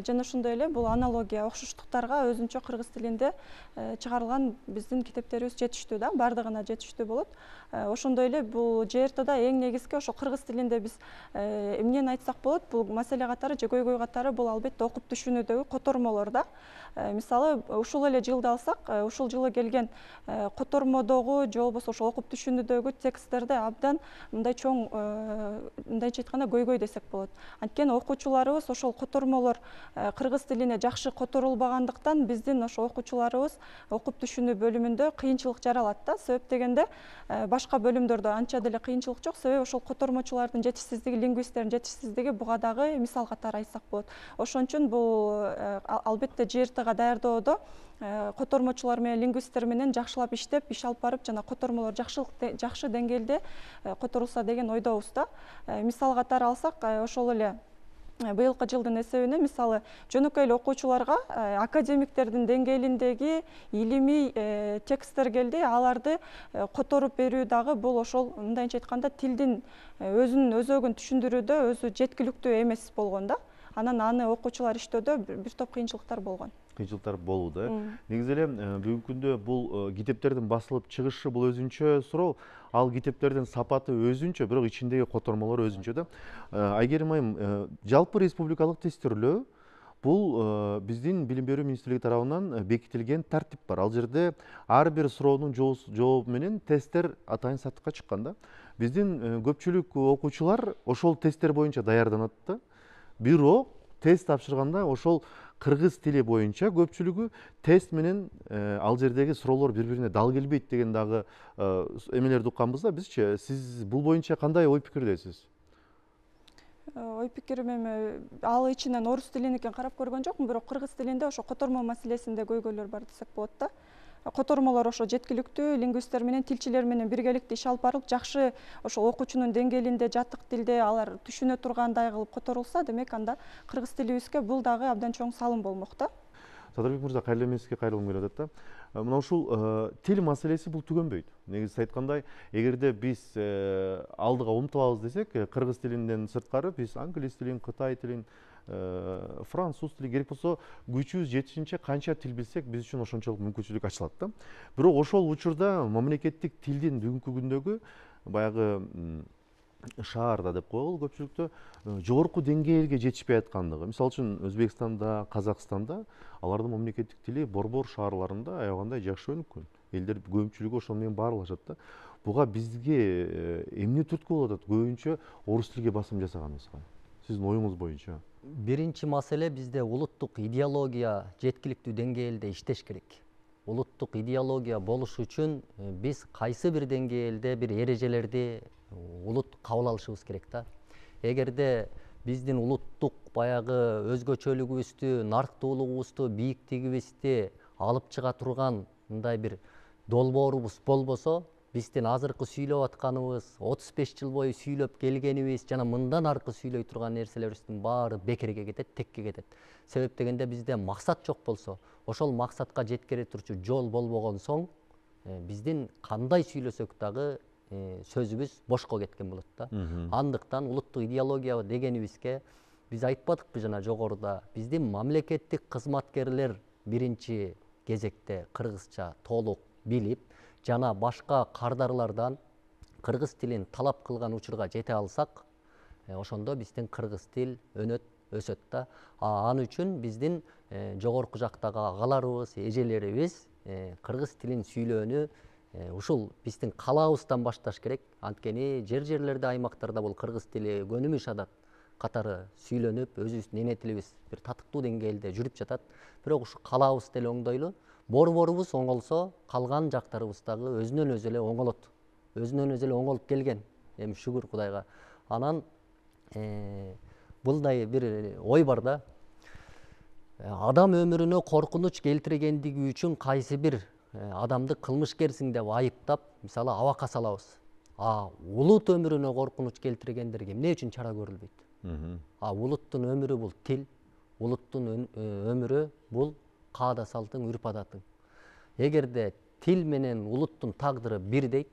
Жана ошондой эле бул аналогия, окшоштуктарга өзүнчө кыргыз тилинде чыгарылган биздин китептерибиз жетиштүү да, баардыгына жетиштүү болот. Ошондой эле бул жертада эң негизги ошо кыргыз тилинде биз эмнени айтсак болот, бул маселе катары же көйгөй катары бул албетте окуп түшүнүүдөгү котормолор да. Мисалы, ушул эле жылды алсак, ушул жылы келген котормодогу же болбосо ошол окуп түшүнүүдөгү тексттерде абдан мындай чоң, мындайча айтканда көйгөй десек болот. Анткени окуучуларыбыз ошол котормолор кыргыз тилине жакшы которулбагандыктан биздин ошо окуучуларыбыз окуп түшүнүү бөлүмүндө кыйынчылык жаралат да. Себеп дегенде башка бөлүмдөрдө анча деле кыйынчылык жок. Себеби ошол котормочулардын жетишсиздиги, лингвисттердин жетишсиздиги буга дагы мисал катары айтсак болот. Ошон үчүн бул албетте жертага даярдоодо котормочулар менен лингвисттер менен жакшылап иштеп, иш алып барып, жана котормолор жакшы деңгээлде которулса деген ойдобуз да. Мисал катары алсак, ошол эле быйылкы жылдын эсебине мисалы жөнөкөй эле окуучуларга академиктердин деңгээлиндеги илимий тексттер келди. Аларды которуп берүү дагы бул ошол мындайча айтканда тилдин өзүнүн өзөгүн түшүндүрүүдө өзү жеткиликтүү эмес болгон да. Анан аны окуучулар иштөөдө бир топ кыйынчылыктар болгон. Кыйынчылыктар болууда. Негизи эле бүгүнкү күндө бул китептердин басылып чыгышы бул өзүнчө суроо. Ал китептердин сапаты өзүнчө, бирок ичиндеги котормолор өзүнчө да. Айгерим айым, жалпы республикалык тестирлөө бул биздин билим берүү министрлиги тарабынан бекитилген тартип бар. Ал жерде ар бир суроонун жообу менен тесттер атайын сатыкка чыккан да. Биздин көпчүлүк окуучулар ошол тесттер боюнча даярданат да. Бирок тест тапшырганда ошол кыргыз тили боюнча көпчүлүгү тест менен ал жердеги суроолор бири бирине дал келбейт деген дагы эмелерди укканбыз да бизчи. Сиз бул боюнча кандай ой пикирдесиз? Ой пикирим эми ал ичинен орус тилиникин карап көргөн жокмун, бирок кыргыз тилинде ошо котормо маселесинде көйгөйлөр бар десек болот да. Котормолор ошо жеткиликтүү лингвисттер менен тилчилер менен биргеликте иш алып барылып, жакшы ошо окуучунун деңгээлинде, жатык тилде алар түшүнө тургандай кылып которулса, демек анда кыргыз тилибизге бул дагы абдан чоң салым болмок да. Садырбек мырза, кайрылуу эмне сизге кайрылгым келип атат да. Мына ушул тил маселеси бул түгөнбөйт. Негизи айткандай, эгерде биз алдыга умтулабыз десек, кыргыз тилинден сырткары биз англис тилин, кытай тилин, француз тили, керек болсо күчүбүз жетишинче канча тил билсек, биз үчүн ошончолук мүмкүнчүлүк ачылат да. Бирок ошол учурда мамлекеттик тилдин бүгүнкү күндөгү баягы шаарда деп коелу көпчүлүктө жогорку деңгээлге жетишпей аткандыгы. Мисалы үчүн Өзбекстанда, Казакстанда алардын мамлекеттик тили борбор шаарларында аябагандай жакшы өнүккөн. Элдер көпчүлүгү ошол менен баарлашат да. Буга бизге эмне түрткү болуп атат көбүнчө орус тилге басым жасаганыбызга? Сиздин оюңуз боюнча. Биринчи маселе, бизде улуттук идеология жеткиликтүү деңгээлде иштеш керек. Улуттук идеология болуш үчүн биз кайсы бир деңгээлде бир эрежелерди улут кабыл алышыбыз керек да. Эгерде биздин улуттук баягы өзгөчөлүгүбүздү, нарктуулугубузду, бийиктигибизди алып чыга турган мындай бир долбоорубуз болбосо, биздин азыркы сүйлөп атканыбыз, отуз беш жыл бою сүйлөп келгенибиз жана мындан аркы сүйлөй турган нерселерибиздин баары бекерге кетет, текке кетет. Себеп дегенде бизде максат жок болсо, ошол максатка жеткире турчу жол болбогон соң, биздин кандай сүйлөсөк дагы сөзүбүз бошко кеткен болот да. Андыктан улуттук идеология дегенибизге биз айтпадыкпы жана жогоруда, биздин мамлекеттик кызматкерлер биринчи кезекте кыргызча толук билип, жана башка кардарлардан кыргыз тилин талап кылган учурга жете алсак, ошондо биздин кыргыз тил өнөт, өсөт да. Ал үчүн биздин жогорку жактагы агаларыбыз, эжелерибиз кыргыз тилин сүйлөөнү ушул биздин калаабыздан башташ керек. Анткени жер-жерлерде, аймактарда бул кыргыз тили көнүмүш адат катары сүйлөнүп, өзүбүздүн эне тилибиз бир татыктуу деңгээлде жүрүп жатат. Бирок ушу калаабыз деле оңдойлу. Борборубуз оңолсо, калган жактарыбыз дагы өзүнөн өзү эле оңолот. Өзүнөн өзү эле оңолуп келген. Эми шүгүр Кудайга. Анан булдай бир ой бар да. Адам өмүрүнө коркунуч келтиргендиги үчүн кайсы бир адамды кылмышкерсиң деп айыптап, мисалы абакка салабыз. А улут өмүрүнө коркунуч келтиргендерге эмне үчүн чара көрүлбөйт? А улуттун өмүрү бул тил, улуттун өмүрү бул каада салтың, үрп адатың. Эгерде тил менен улуттун тагдыры бирдей,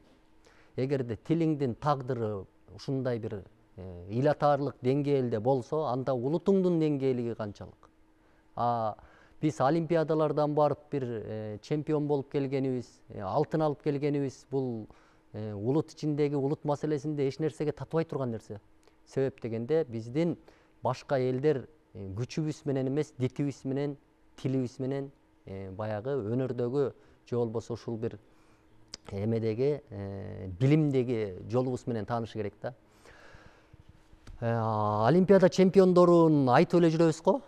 эгерде тилиңдин тагдыры ушундай бир ил атаарлык деңгээлде болсо, анда улутуңдун деңгээлиги канчалык? А биз олимпиадалардан барып бир чемпион болуп келгенибиз, алтын алып келгенибиз бул улут ичиндеги улут маселесинде эч нерсеге татбай турган нерсе. Себеп дегенде биздин башка элдер күчүбүз менен эмес, дитибиз менен, тилибиз менен баягы өнөрдөгү же болбосо ушул бир эмедеги билимдеги жолубуз менен таанышы керек да. Олимпиада чемпиондорун айтып эле жүрөбүз го.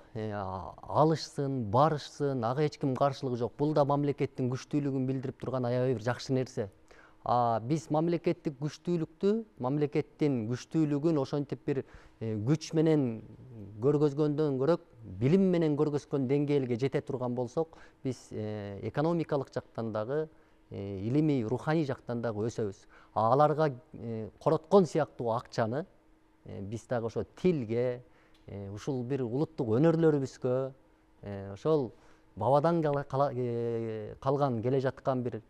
Алышсын, барышсын, ага эч ким каршылыгы жок. Бул да мамлекеттин күчтүүлүгүн билдирип турган аябай бир жакшы нерсе. А биз мамлекеттик күчтүүлүктү, мамлекеттин күчтүүлүгүн ошентип бир күч менен көргөзгөндөн көрөк, билим менен көргөзгөн деңгээлге жете турган болсок, биз экономикалык жактан дагы, илимий, руханий жактан дагы өсөбүз. Аларга короткон сыяктуу акчаны биз дагы ошо тилге, ушул бир улуттук өнөрлөрүбүзгө, ошол бабадан калган келе жаткан бир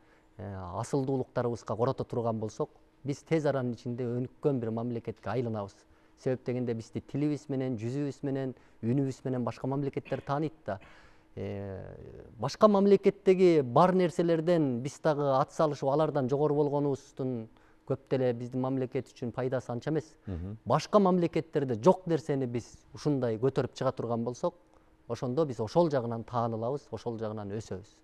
асылдуулуктарыбызга корото турган болсок, биз тез аранын ичинде өнүккөн бир мамлекетке айланабыз. Себеп дегенде бизди тилибиз менен, жүзүбүз менен, үнүбүз менен башка мамлекеттер тааныйт да. Башка мамлекеттеги бар нерселерден биз дагы ат салышып, алардан жогору болгонубуздун көп деле биздин мамлекет үчүн пайдасы анча эмес. Башка мамлекеттерде жок нерсени биз ушундай көтөрүп чыга турган болсок, ошондо биз ошол жагынан таанылабыз, ошол жагынан өсөбүз.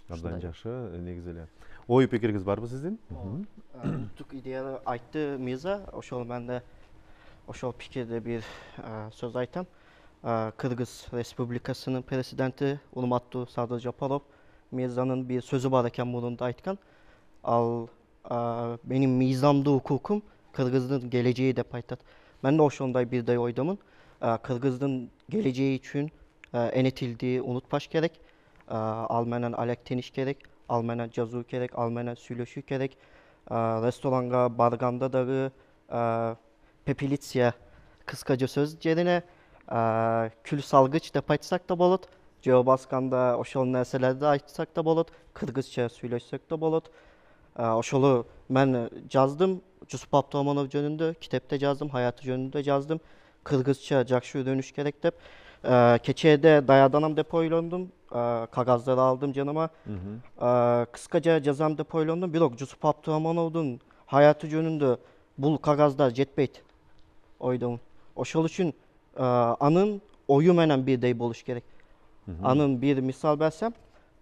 Абдан жакшы, негизи эле. Ой пикириңиз барбы сиздин? Улуттук идеяны айтты Мирза, ошол мен да ошол пикирде бир сөз айтам. Кыргыз Республикасынын президенти урматтуу Садыр Жапаров мыйзанын бир сөзү бар экен, мурунда айткан. Ал менин мыйзамдуу укукум Кыргыздын келечеги деп айтат. Мен да ошондой бирдей ойдомун. Кыргыздын келечеги үчүн эне тилди унутпаш керек. Ал менен алектениш керек, ал менен жазуу керек, ал менен сүйлөшүү керек. Ресторанга барганда дагы пепелиция кыскача сөз жерине күл салгыч деп айтсак да болот. Жөө басканда ошол нерселерди айтсак да болот. Кыргызча сүйлөшсөк да болот. Ошолу мен жаздым. Жусуп Абдыраманов жөнүндө китепте жаздым, hayatı жөнүндө жаздым. Кыргызча жакшы үйрөнүш керек деп. Кечээде даярданам деп ойлондум. Кагаздарды алдым жаныма. Кыскача жазам деп ойлондум. Бирок Жусуп Абдырамановдун hayatı жөнүндө бул кагаздар жетпейт ойдомун. Ошол үчүн анын ою менен бирдей болуш керек. Анын бир мисал берсем,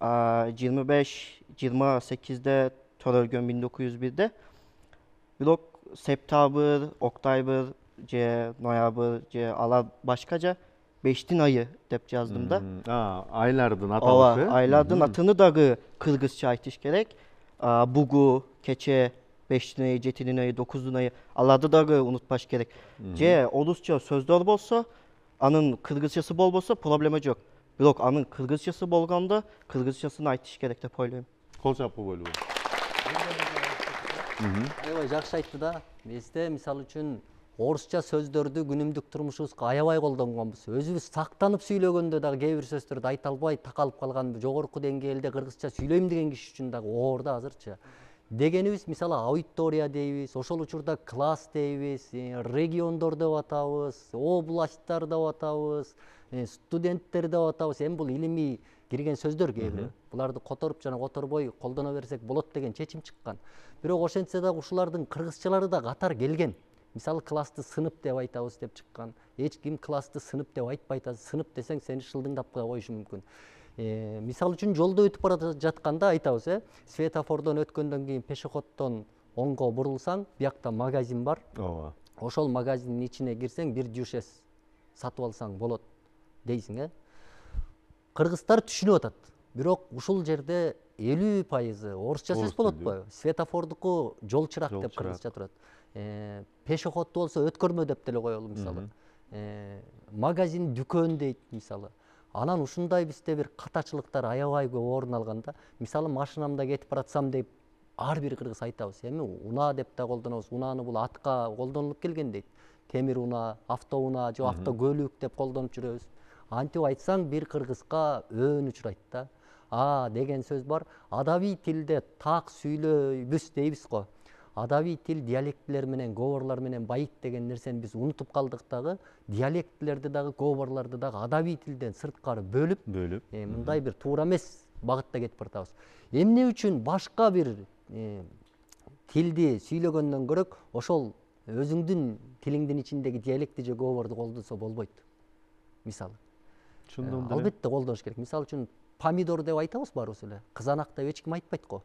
жыйырма беш жыйырма сегизде төрөлгөн миң тогуз жүз бирде. Бирок сентябрь, октябрь же ноябрь же алар башкача бештин айы деп жаздым да. Айлардын аталышы. Ооба, айлардын атыны дагы кыргызча айтыш керек. Бугу, кече, бештин айы, жетинин айы, dokуздун айы, аларды дагы унутпаш керек. Же орусча сөздөр болсо, анын кыргызчасы болбосо проблема жок. Бирок анын кыргызчасы болгондо кыргызчасын айтыш керек деп ойлойм. Кол чапкы бойлуу. Аябай жакшы айтты да. Бизде мисалы үчүн орусча сөздөрдү күнүмдүк турмушубузга аябай колдонгонбуз. Өзүбүз сактанып сүйлөгөндө дагы кээ бир сөздөрдү айта албай такалып калган, жогорку деңгээлде кыргызча сүйлөйм деген киши үчүн дагы оор да азырчы. Дегенибиз мисалы аудитория дейбиз, ошол учурда класс дейбиз, региондор деп атабыз, областтар деп атабыз, студенттер деп атабыз. Эми бул илимий кирген сөздөр кээ бири. Буларды которуп жана которбой колдоно берсек болот деген чечим чыккан. Бирок ошентсе дагы ушулардын кыргызчалары да катар келген. Мисалы классты сынып деп айтабыз деп чыккан. Эч ким классты сынып деп айтпайт. Сынып десең сени шылдыңдап коюшу мүмкүн. Мисалы үчүн жолдо өтүп бара жатканда айтабыз, э, светофордон өткөндөн кийин пешеходдон оңго бурулсаң, биякта магазин бар. Ооба. Ошол магазиндин ичине кирсең, бир жушес сатып алсаң болот дейсиң, э. Кыргыздар түшүнүп атат. Бирок ушул жерде элүү пайызы орусча сөз болотпу? Светофордуку жол чырак деп кыргызча турат. Пешеходду болсо өткөрмө деп деле коелу мисалы. Магазин, дүкөн дейт мисалы. Анан ушундай бизде бир катачылыктар аябай көп орун алганда, мисалы машинамда кетип баратсам деп ар бир кыргыз айтабыз. Эми унаа деп да колдонобуз. Унааны бул атка колдонулуп келген дейт. Темир унаа, автоунаа же автокөлүк деп колдонуп жүрөбүз. Антип айтсаң бир кыргызга өөн учурайт да. А деген сөз бар. Адабий тилде так сүйлөйбүз дейбиз го. Адабий тил диалектилер менен, говорлор менен байыт деген нерсени биз унутуп калдык дагы. Диалектилерди дагы, говорлорду дагы адабий тилден сырткары бөлүп, бөлүп, мындай бир туура эмес багытта кетип баратабыз. Эмне үчүн башка бир тилди сүйлөгөндөн көрөк, ошол өзүңдүн тилиңдин ичиндеги диалекти же говорду колдонсо болбойт. Мисалы. Албетте колдоnuш керек. Мисалы үчүн помидор деп айтабыз баарыбыз эле. Кызанак деп эч ким айтпайт го.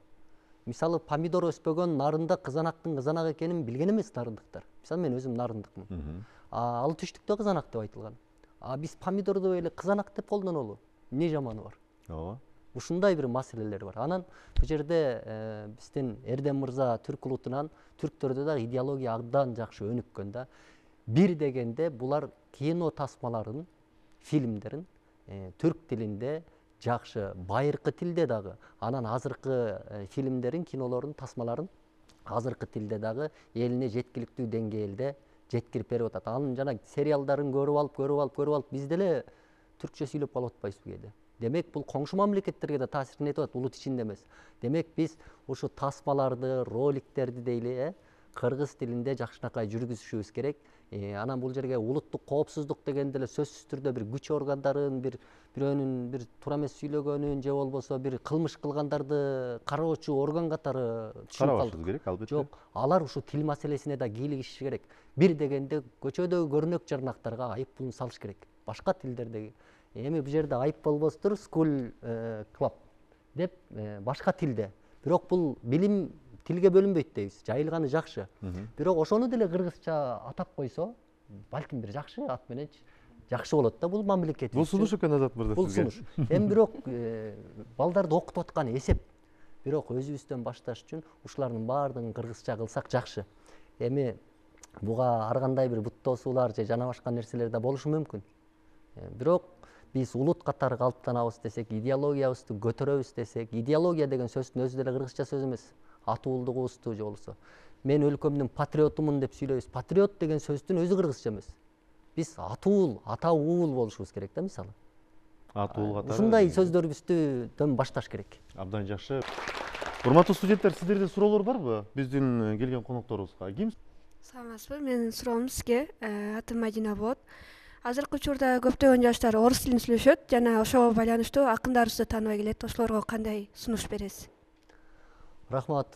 Мисалы помидор өспөгөн нарында кызанактын кызанак экенин билген эмес нарындыктар. Мисалы мен өзүм нарындыкмын. А ал түштүктө кызанак деп айтылган. А биз помидорду эле кызанак деп колдонолу. Эмне жаманы бар? Ооба. Ушундай бир маселелер бар. Анан бул жерде биздин Эрдем мырза түрк улутунан түрктөрдө да идеология абдан жакшы өнүккөн да. Бир дегенде булар кино тасмаларын, фильмдерин түрк тилинде жакшы, байыркы тилде дагы, анан азыркы фильмдерин, кинолордун тасмаларын азыркы тилде дагы элине жеткиликтүү деңгээлде жеткирип берип атат. Анын жана сериалдарын көрүп алып, көрүп алып, көрүп алып биз деле түркчө сүйлөп калып атпайбызбы кээде? Демек бул коңшу мамлекеттерге да таасирин этип атат, улут ичинде эмес. Демек биз ушу тасмаларды, роликтерди дейли, э, кыргыз тилинде жакшынакай жүргүзүшүбүз керек. Анан бул жерге улуттук коопсуздук деген деле сөзсүз түрдө бир күч органдарын, бир бирөөнүн бир туура эмес сүйлөгөнүн же болбосо бир кылмыш кылгандарды кароочу орган катары түшүнүп калдык. Керек, албетте. Жок, алар ушу тил маселесине да кийлигишиши керек. Бир дегенде көчөдөгү көрүнөк жарнактарга айып пулун салыш керек. Башка тилдердеги. Эми бул жерде айып болбостур, school club деп башка тилде. Бирок бул билим тилге бөлүнбөйт дейбиз. Жайылганы жакшы. Бирок ошону деле кыргызча атап койсо, балким бир жакшы ат мененчи. жакшы болот да бул мамлекет үчүн. Бул сунуш экен Азат мырза Бул сизге. сунуш. Эми бирок балдарды окутуп аткан эсеп. Бирок өзүбүздөн башташ үчүн ушулардын баардыгын кыргызча кылсак жакшы. Эми буга ар кандай бир буттоосуулар же жана башка нерселер да болушу мүмкүн. Бирок биз улут катары калыптанабыз десек, идеологиябызды көтөрөбүз десек, идеология деген сөздүн өзү деле кыргызча сөз эмес. Атуулдугубузду же болбосо мен өлкөмдүн патриотумун деп сүйлөйбүз. Патриот деген сөздүн өзү кыргызча эмес. Биз атуул, ата уул болушубуз керек да мисалы. Атуул катары. Ушундай сөздөрүбүздөн башташ керек. Абдан жакшы. Урматтуу студенттер, сиздерде суроолор барбы биздин келген конокторубузга? Ким? Саламатсызбы? Менин суроом сизге. Атым Мадина болот. Азыркы учурда көптөгөн жаштар орус тилин сүйлөшөт жана ошого байланыштуу акындарыбызды тааныбай келет. Ошолорго кандай сунуш бересиз? Рахмат.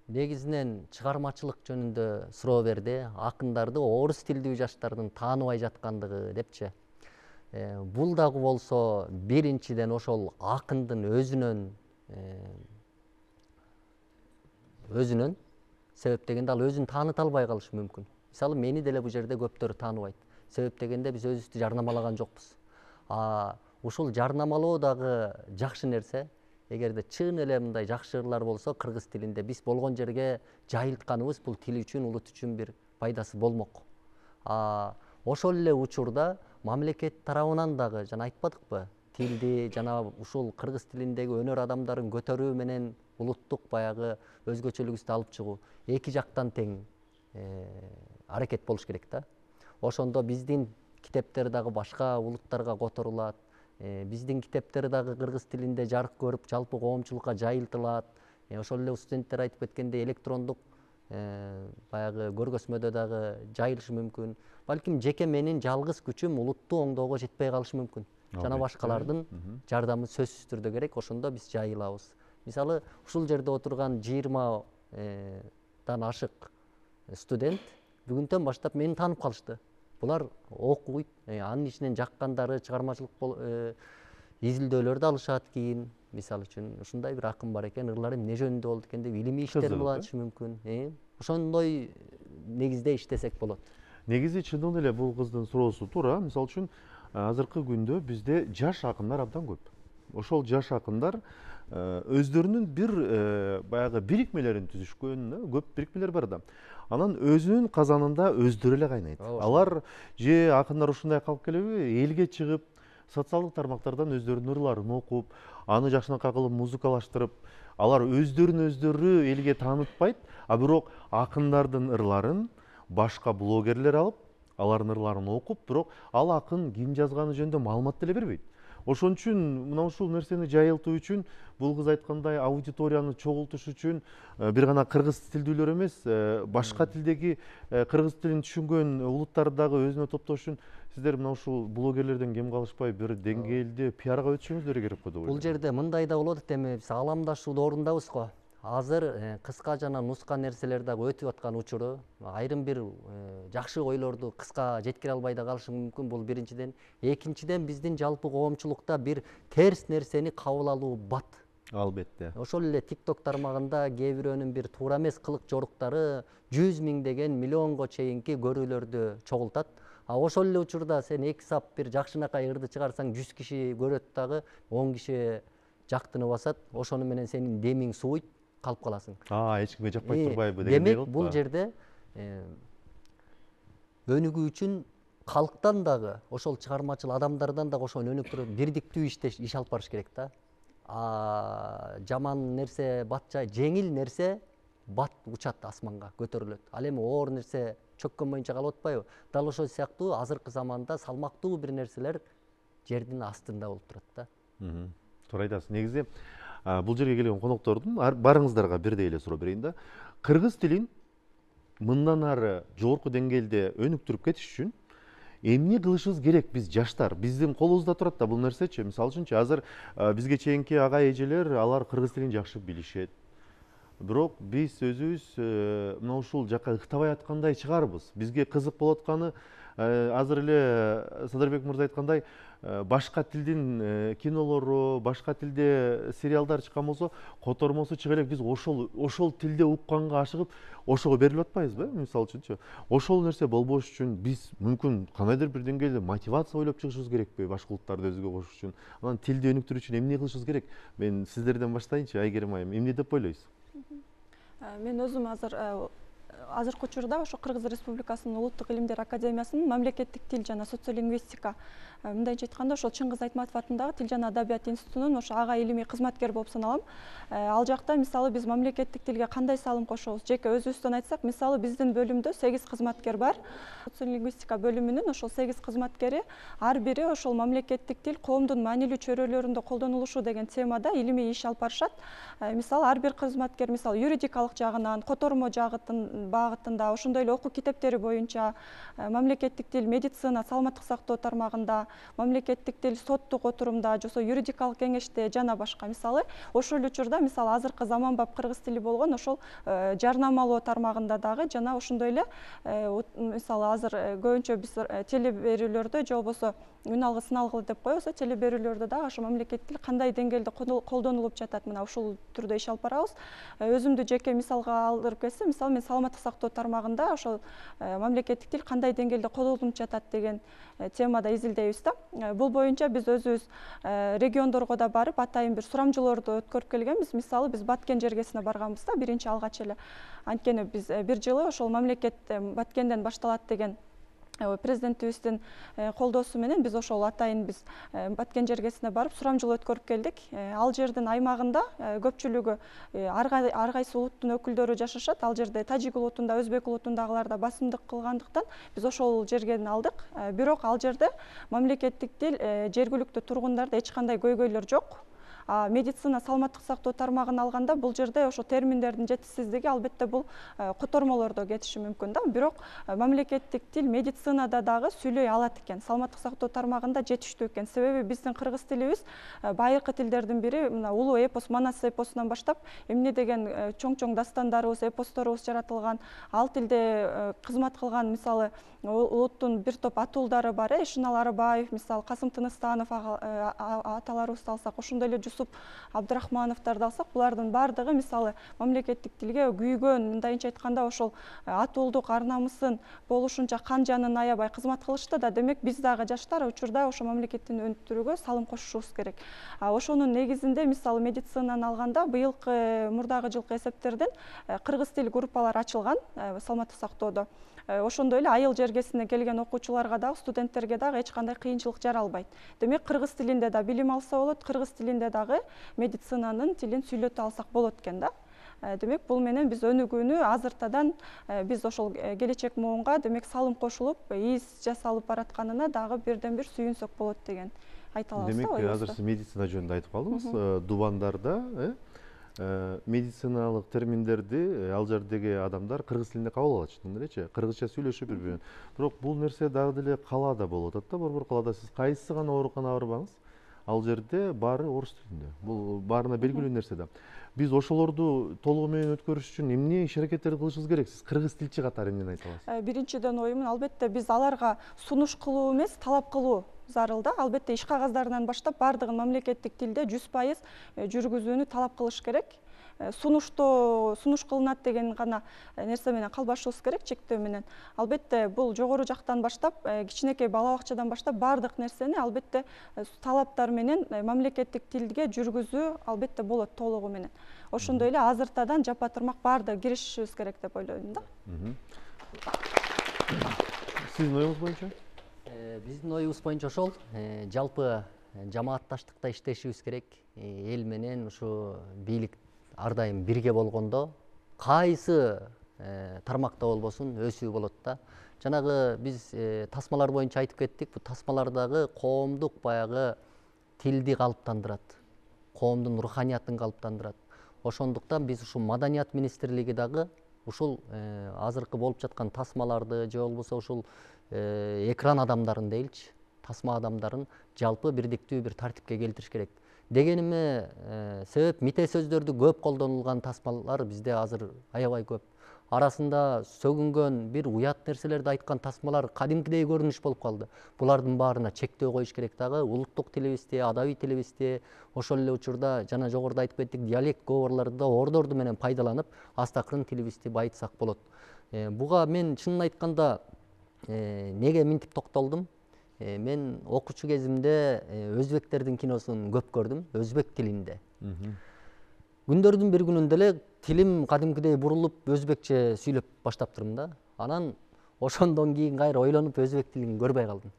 Негизинен чыгармачылык жөнүндө суроо берди. Акындарды орус тилдүү жаштардын тааныбай жаткандыгы депчи. Бул дагы болсо биринчиден ошол акындын өзүнөн өзүнөн себеп дегенде ал өзүн тааныта албай калышы мүмкүн. Мисалы мени деле бул жерде көптөр тааныбайт. Себеп дегенде биз өзүбүздү жарнамалаган жокпуз. А ушул жарнамалоо дагы жакшы нерсе. Эгерде чын эле мындай жакшы ырлар болсо кыргыз тилинде биз болгон жерге жайылтканыбыз бул тил үчүн, улут үчүн бир пайдасы болмок. А ошол эле учурда мамлекет тарабынан дагы жана айтпадыкпы, тилди жана ушул кыргыз тилиндеги өнөр адамдарын көтөрүү менен улуттук баягы өзгөчөлүгүбүздү алып чыгуу эки жактан тең аракет болуш керек да. Ошондо биздин китептер дагы башка улуттарга которулат. Биздин китептер дагы кыргыз тилинде жарык көрүп, жалпы коомчулукка жайылтылат. Ошол эле студенттер айтып кеткендей электрондук баягы көргөзмөдө дагы жайылышы мүмкүн. Балким жеке менин жалгыз күчүм улутту оңдоого жетпей калышы мүмкүн. Жана башкалардын жардамы сөзсүз түрдө керек. Ошондо биз жайылабыз. Мисалы, ушул жерде отурган жыйырмадан ашык студент бүгүндөн баштап мени таанып калышты. Булар окуйт, анын ичинен жаккандары чыгармачылык изилдөөлөрдү алышат кийин. Мисалы үчүн ушундай бир акын бар экен, ырлары эмне жөнүндө болду экен деп илимий иштер болушу мүмкүн. Ошондой негизде иштесек болот. Негизи чындыгында эле бул кыздын суроосу туура. Мисалы үчүн азыркы күндө бизде жаш акындар абдан көп. Ошол жаш акындар өздөрүнүн бир баягы бирикмелерин түзүшкөн, көп бирикмелер бар да. Анан өзүнүн казанында өздөрү эле кайнайт. Алар же акындар ушундай калып келеби, элге чыгып, социалдык тармактардан өздөрүнүн ырларын окуп, аны жакшынакай кылып музыкалаштырып, алар өздөрүн өздөрү элге таанытпайт, а бирок акындардын ырларын башка блогерлер алып, алардын ырларын окуп, бирок ал акын ким жазганы жөнүндө маалымат деле бербейт. Ошон үчүн мына ушул нерсени жайылтуу үчүн, бул кыз айткандай аудиторияны чогултуш үчүн бир гана кыргыз тилдүүлөр эмес, башка тилдеги кыргыз тилин түшүнгөн улуттарды дагы өзүнө топтош үчүн сиздер мына ушул блогерлерден кем калышпай бир деңгээлде пиарга өтүшүңүздөр керек го деп ойлойм. Бул жерде мындай да болот эми, биз ааламдашууду орундабыз го. Азыр кыска жана нуска нерселер дагы өтүп аткан учуру, айрым бир жакшы ойлорду кыска жеткире албай да калышы мүмкүн. Бул биринчиден. Экинчиден, биздин жалпы коомчулукта бир терс нерсени кабыл алуу бат. Албетте. Ошол эле TikTok тармагында кээ бирөөнүн бир туура эмес кылык жоруктары жүз миңдеген, миллионго чейинки көрүүлөрдү чогултат. А ошол эле учурда сен эки сап бир жакшынакай ырды чыгарсаң жүз киши көрөт дагы, он киши жактыны басат. Ошону менен сенин демиң сууйт, калып каласың. А, эч кимге жакпай турбайбы дегендей болот. Демек, бул жерде өнүгүү үчүн калктан дагы, ошол чыгармачыл адамдардан дагы ошону өнүктүрүп, бирдиктүү иштеш, иш алып барыш керек да. А жаман нерсе батча, жеңил нерсе бат учат асманга, көтөрүлөт. Ал эми оор нерсе чөккөн боюнча калып атпайбы? Дал ошол сыяктуу азыркы заманда салмактуу бир нерселер жердин астында болуп турат да. Туура айтасыз. Негизи бул жерге келген коноктордун барыңыздарга бирдей эле суроо берейин да. Кыргыз тилин мындан ары жогорку деңгээлде өнүктүрүп кетиш үчүн эмне кылышыбыз керек биз жаштар? Биздин колубузда турат да бул нерсечи. Мисалы үчүнчү азыр бизге чейинки ага эжелер алар кыргыз тилин жакшы билишет. бирок биз өзүбүз мына ушул жака ыктабай аткандай чыгарбыз. Бизге кызык болуп атканы азыр эле Садырбек мырза айткандай, башка тилдин кинолору, башка тилде сериалдар чыккан болсо, котормосу чыга элек, биз ошол ошол тилде укканга ашыгып, ошого берилип атпайбызбы? Мисалы үчүнчү. Ошол нерсе болбош үчүн биз мүмкүн кандайдыр бир деңгээлде мотивация ойлоп чыгышыбыз керекпи, башка улуттарды өзүгө кошуш үчүн. Анан тилди өнүктүрүү үчүн эмне кылышыбыз керек? Мен сиздерден баштайынчы, Айгерим айым. Эмне деп ойлойсуз? Мен өзүм азыр азыркы учурда ошо Кыргыз Республикасынын Улуттук илимдер академиясынын мамлекеттик тил жана социолингвистика, мындайча айтканда ошол Чыңгыз Айтматов атындагы Тил жана Адабият институтунун ошо ага илимий кызматкер болуп саналам. Ал жакта мисалы биз мамлекеттик тилге кандай салым кошобуз? Жеке өзүбүздөн айтсак, мисалы биздин бөлүмдө сегиз кызматкер бар. Социолингвистика бөлүмүнүн ошол сегиз кызматкери ар бири ошол мамлекеттик тил коомдун маанилүү чөйрөлөрүндө колдонулушу деген темада илимий иш алып барышат. Мисалы ар бир кызматкер мисалы юридикалык жагынан, котормо жагытын багытында, ошондой эле окуу китептери боюнча, мамлекеттик тил медицина, саламаттык сактоо тармагында, мамлекеттик тил соттук отурумда, жосо юридикалык кеңеште жана башка. Мисалы ошол учурда мисалы азыркы заманбап кыргыз тили болгон ошол жарнамалоо тармагында дагы жана ошондой эле мисалы азыр көбүнчө биз телеберүүлөрдө же болбосо үн алгы сын алгы деп коебуз, телеберүүлөрдө дагы ошо мамлекеттик тил кандай деңгээлде колдонулуп жатат, мына ушул түрдө иш алып барабыз. Өзүмдү жеке мисалга алдырып келсем, мисалы мен саламаттык сактоо тармагында ошол мамлекеттик тил кандай деңгээлде колдонулуп жатат деген темада изилдейбиз да. Бул боюнча биз өзүбүз региондорго да барып, атайын бир сурамжылоорду өткөрүп келгенбиз. Мисалы биз Баткен жергесине барганбыз да, биринчи алгач эле. Анткени биз бир жылы ошол мамлекет Баткенден башталат деген президентибиздин колдоосу менен биз ошол атайын биз Баткен жергесине барып сурамжылоо өткөрүп келдик. Ал жердин аймагында көпчүлүгү ар кайсы улуттун өкүлдөрү жашашат. Ал жерде тажик улутунда, өзбек улутундагылар да басымдык кылгандыктан биз ошол жерген алдык. Бирок ал жерде мамлекеттик тил жергиликтүү тургундарда эч кандай көйгөйлөр жок. Медицина, саламаттык сактоо тармагын алганда бул жерде ошо терминдердин жетишсиздиги албетте бул котормолордо кетиши мүмкүн да. Бирок мамлекеттик тил медицинада дагы сүйлөй алат экен. Саламаттык сактоо тармагында жетиштүү экен. Себеби биздин кыргыз тилибиз байыркы тилдердин бири. Мына улуу эпос, Манас эпосунан баштап эмне деген чоң-чоң дастандарыбыз, эпосторубуз жаратылган. Ал тилде кызмат кылган мисалы улуттун бир топ атуулдары бар. Эшинал Арабаев, мисалы Касым Тыныстанов аталарыбызды алсак, ошондой эле Жусуп Абдрахмановдорду алсак, булардын баардыгы мисалы мамлекеттик тилге күйгөн, мындайча айтканда ошол атуулдук ар намысын болушунча кан жанын аябай кызмат кылышты да. Демек биз дагы жаштар учурда ошо мамлекеттин өнүктүрүүгө салым кошушубуз керек. Ошонун негизинде мисалы медицинаны алганда быйылкы мурдагы жылкы эсептерден кыргыз тил группалары ачылган саламаттык сактоодо. Ошондой эле айыл жергесине келген окуучуларга дагы, студенттерге дагы эч кандай кыйынчылык жаралбайт. Демек кыргыз тилинде да билим алса болот, кыргыз тилинде дагы медицинанын тилин сүйлөтө алсак болот экен да. Демек бул менен биз өнүгүүнү азыртадан биз ошол келечек моонга демек салым кошулуп, из жасалып баратканына дагы бирден бир сүйүнсөк болот деген айта алабыз да. Демек азыр сиз медицина жөнүндө айтып калдыңыз. Дубандарда медициналык терминдерди ал жердеги адамдар кыргыз тилинде кабыл алышат элечи, кыргызча сүйлөшүп бири-бирин. Бирок бул нерсе дагы деле калаада болуп атат да, борбор калаада сиз кайсы гана ооруканага барбаңыз, ал жерде баары орус тилинде. Бул баарына белгилүү нерсе да. Биз ошолорду толугу менен өткөрүш үчүн эмне иш аракеттерди кылышыбыз керек? Сиз кыргыз тилчи катары эмнени айта аласыз? Биринчиден оюмун, албетте биз аларга сунуш кылуу эмес, талап кылуу зарыл да. Албетте иш кагаздарынан баштап баардыгын мамлекеттик тилде жүз пайыз жүргүзүүнү талап кылыш керек. Сунуштоо сунуш кылынат деген гана нерсе менен калбашыбыз керек, чектөө менен. Албетте бул жогору жактан баштап, кичинекей бала бакчадан баштап баардык нерсени албетте талаптар менен мамлекеттик тилге жүргүзүү албетте болот толугу менен. Ошондой эле азыртадан жапа турмак баардыгы киришишибиз керек деп ойлойм да. Сиздин оюңуз боюнча? Биздин оюбуз боюнча ошол, жалпы жамаатташтыкта иштешибиз керек. Эл менен ушу бийлик ар дайым бирге болгондо кайсы тармакта болбосун өсүү болот да. Жанагы биз тасмалар боюнча айтып кеттик. Бул тасмалардагы коомдук баягы тилди калыптандырат, коомдун руханиятын калыптандырат. Ошондуктан биз ушул Маданият министрлиги дагы ушул азыркы болуп жаткан тасмаларды же болбосо ушул экран адамдарын дейилчи, тасма адамдарын жалпы бирдиктүү бир тартипке келтириш керек. Дегениме себеп мите сөздөрдү көп колдонулган тасмалар бизде азыр аябай көп. Арасында сөгүнгөн бир уят нерселерди айткан тасмалар кадимкидей көрүнүш болуп калды. Булардын баарына чектөө коюш керек дагы. Улуттук тилибизди, адабий тилибизди, ошол эле учурда жана жогоруда айтып кеттик, диалект говорлорду ордорду менен пайдаланып, астакырын тилибизди байытсак болот. Буга мен чынын айтканда неге минтип токтолдум? Мен окуучу кезимде өзбектердин киносун көп көрдүм, өзбек тилинде. Күндөрдүн бир күнүндө эле тилим кадимкидей бурулуп, өзбекче сүйлөп баштаптырмын да. Анан ошондон кийин кайра ойлонуп өзбек тилин көрбөй калдым.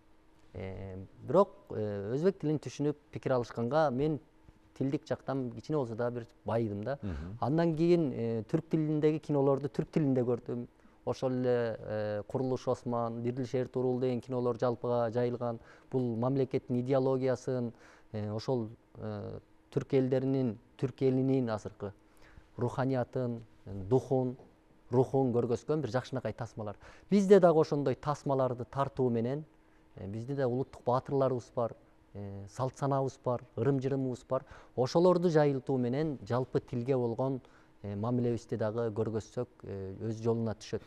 Бирок өзбек тилин түшүнүп пикир алышканга мен тилдик жактан кичине болсо да бир байыдым да. Андан кийин түрк тилиндеги кинолорду түрк тилинде көрдүм. Ошол эле Курулуш Осман, Дирдил Турул деген кинолор жалпыга жайылган. Бул мамлекеттин идеологиясын, ошол түрк элдеринин, түрк элинин азыркы руханиятын, духун, рухун көргөзгөн бир жакшынакай тасмалар. Бизде дагы ошондой тасмаларды тартуу менен, бизде да улуттук баатырларыбыз бар, салт санаабыз бар, ырым-жырымыбыз бар. Ошолорду жайылтуу менен жалпы тилге болгон мамилебизди дагы көргөзсөк өз жолуна түшөт.